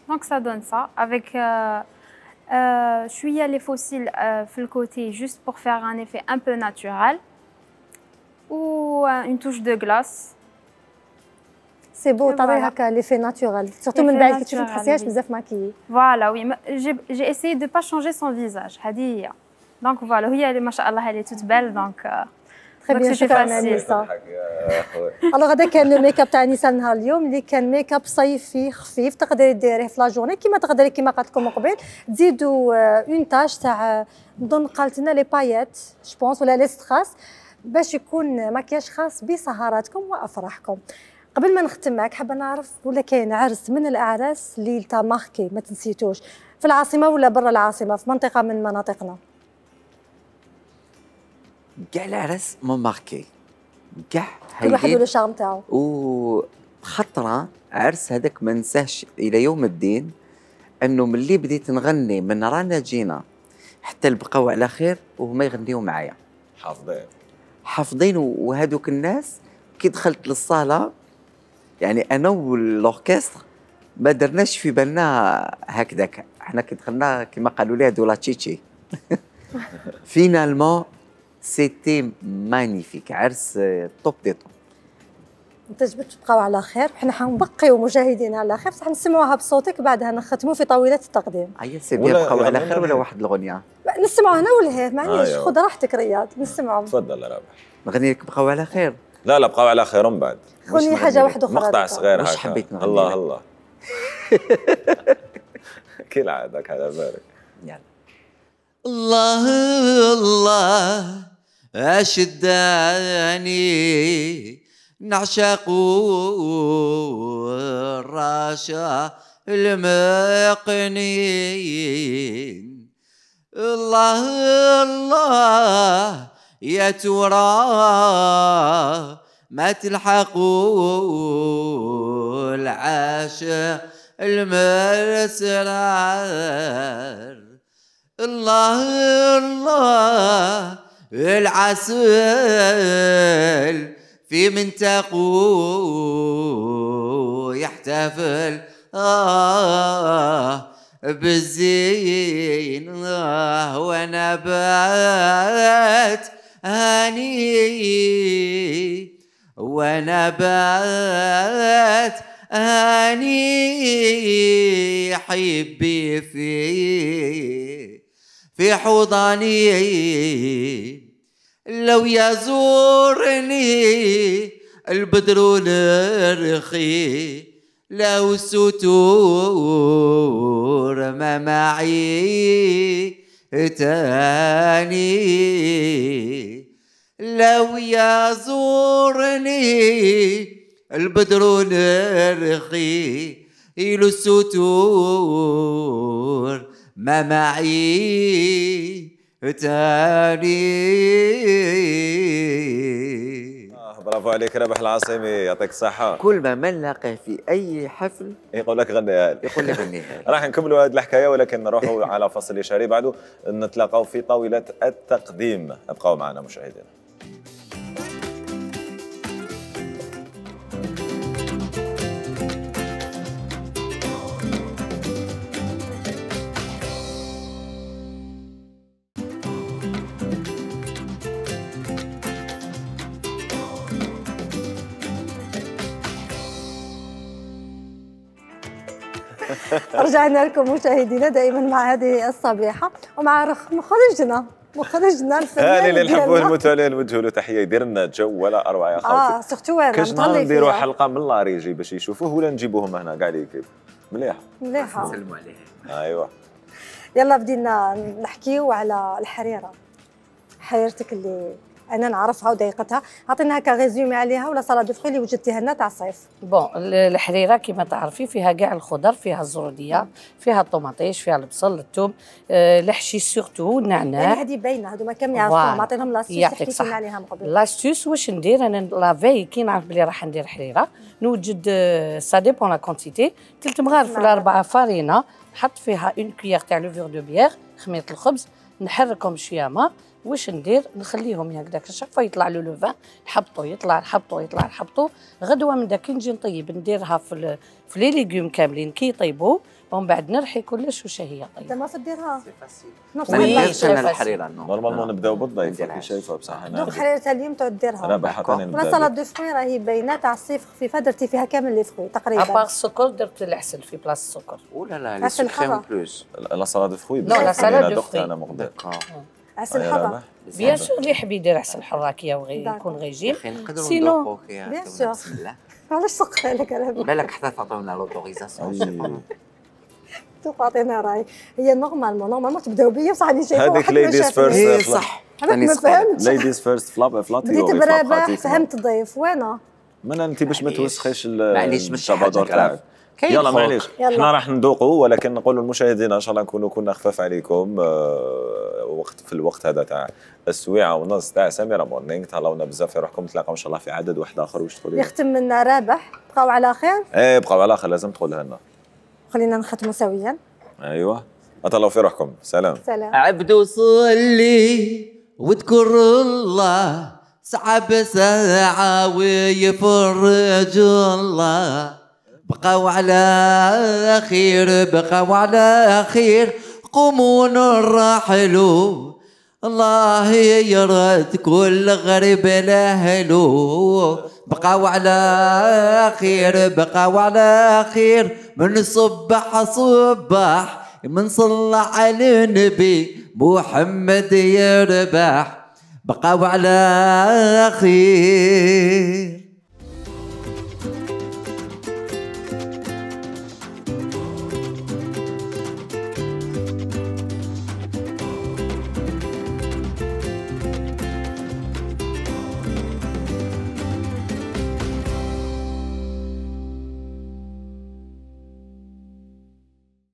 Donc ça donne ça. Avec, euh, euh, je suis allée fossile euh, le côté juste pour faire un effet un peu naturel. Ou euh, une touche de glace. C'est beau, t'as voilà. L'effet naturel. Surtout من بعد كي تشوفي تحسيهاش بزاف ماكيي. Voilà, oui. J'ai, j'ai essayé de ne pas changer son visage. هذه. Donc voilà, هي ما شاء الله elle est toute belle donc. Euh, تري بيان شكرا انيسه. الوغ هذا كان الميك اب تاع انيسه نهار اليوم اللي كان ميك اب صيفي خفيف تقدري ديريه في لا جورني كيما تقدري كيما قالت لكم من قبل تزيدوا اون تاج تاع نظن قالت لنا لي بايات جو بونس ولا لي ستراس باش يكون مكياج خاص بسهراتكم وافراحكم. قبل ما نختم معك حابه نعرف ولا كاين عرس من الاعراس اللي تا ماركي ما تنسيتوش في العاصمه ولا برا العاصمه في منطقه من مناطقنا؟ كاع العرس مون ماركي كاع كل واحد له الشارم تاعو. وخطره عرس هذاك ما ننساهش الى يوم الدين انه ملي بديت نغني من رانا جينا حتى البقاو على خير وهما يغنيو معايا حافظين حافظين. وهذوك الناس كي دخلت للصاله يعني انا والأوركستر ما درناش في بالنا هكذاك. احنا كي دخلنا كما قالوا لي هذو لا تشيتشي فينالمون سيتي مانيفيك عرس توب دي توب. انت جبت تبقاو على خير حنا حنبقيو مشاهدينا على خير بصح نسمعوها بصوتك بعدها نختموا في طاوله التقديم. اي سي بيان بقاو على خير ولا واحد الاغنيه نسمعوا هنا ولا هي معليش آه خذ راحتك رياض نسمعوا. تفضل رابح. نغني لك بقاو على خير. لا لا بقاو على خير من بعد. غني حاجه واحده اخرى مقطع صغير هكا. واش حبيت نغني الله الله كي العادك على بالك. يلا الله الله أشداني نعشق الرشا المقنين. الله الله يا ترى ما تلحقوا العاشق المسرار. الله الله العسل في منتقو يحتفل آه بالزين آه وانا بات هاني وانا بات هاني حبي في في حضني. لو يزورني البدر الرخي لو ستور ما معي تاني. لو يزورني البدر الرخي لو ستور ما معي تاني. برافو عليك رابح العاصمي، يعطيك الصحة. كل ما من نلاقيه في أي حفل يقول لك غنيها لي. يقول لك غنيها لي. راح نكملوا هذه الحكاية ولكن نروحوا على فصل إشاري بعده نتلاقاو في طاولة التقديم. ابقوا معنا مشاهدينا. رجعنا لكم مشاهدينا دائما مع هذه الصبيحه ومع مخرجنا مخرجنا الفنان هاني اللي نحبوه المتولي نوجهوا له تحيه، يدير لنا جو ولا اروع يا خوتي. اه سيرتو انا كاش نهار نديروا حلقه من لاريجي باش يشوفوه ولا نجيبوهم هنا كاع ليكيب مليح مليحه. نسلموا عليه. ايوا يلا بدينا نحكيو على الحريره، حريرتك اللي انا نعرفها وضيقتها، عطينا هكا ريزومي عليها ولا صاله دو فخي اللي وجدتيها لنا تاع الصيف. بون الحريره كما تعرفي فيها كاع الخضر، فيها الزروديه، فيها الطوماطيش، فيها البصل، الثوم، آه الحشيش سورتو، النعناع. يعني هذه باينه هذوما كامل يعرفوهم، عطيناهم لاستيس حكيتي لنا عليها قبل. لاستيس واش ندير انا لافي كي نعرف بلي راح ندير حريره نوجد سا ديبون لا كونتيتي، ثلاث مغارف ولا اربعه فارينه، نحط فيها اون كويير تاع لوفور دو بيير خميره الخبز، نحركهم شويه ما واش ندير نخليهم هكذاك شافا يطلع له لو فان، نحبطو يطلع نحبطو يطلع نحبطو، غدوه من داك كي نجي نطيب نديرها في في لي ليغوم كاملين كي يطيبوا ومن بعد نرحي كلش واش هي طيب. انت ما تديرها ما نديرش انا الحريره نورمالمون نبداو بالضيف كي شايفه بصح انا دوك حريره اليوم تعود ديرها. انا بحثني ولا صاله دو فروي راهي باينه تاع الصيف خفيفه درتي فيها كامل لي فروي تقريبا. ابار السكر درت العسل في بلاص السكر. ولا لا لي سكريم بلوس. لا صاله دو فروي لا صاله دو فروي انا مقدر. عسل حره بيان سور اللي يحب يدير عسل حراكيه وغير يكون ريجيم. سينو بيان سور علاش سقها لك انا بالك حتى تعطيونا لوتوريزاسيون. تعطينا راي هي نورمالمون نورمالمون تبداو بيا بصح راني شايفه هذيك ليديز فيرست صح. ما فهمتش ليديز فيرست فلاب فلاتي بديت برابح فهمت الضيف وانا من انت باش ما توسخيش معليش مش الشبادور تاعك. يلا معليش احنا راح نذوقوا ولكن نقولوا للمشاهدين ان شاء الله نكونوا كنا خفاف عليكم آه وقت في الوقت هذا تاع السويعه ونص تاع سميره مورنينغ. تهلاونا بزاف في روحكم، نتلاقاو ان شاء الله في عدد واحد اخر. واش تقولي؟ يختم لنا رابح، بقاو على خير. ايه بقاو على خير، لازم تقولها لنا. خلينا نختموا سويا. ايوه اتهلاو في روحكم. سلام سلام. عبدو صلي واذكر الله سحب ساعة ويفرج الله. بقاو على خير بقاو على خير قوموا نرحلوا الله يرد كل غريب لاهلو. بقاو على خير بقاو على خير من صبح صباح من صلى على النبي محمد يربح. بقاو على خير.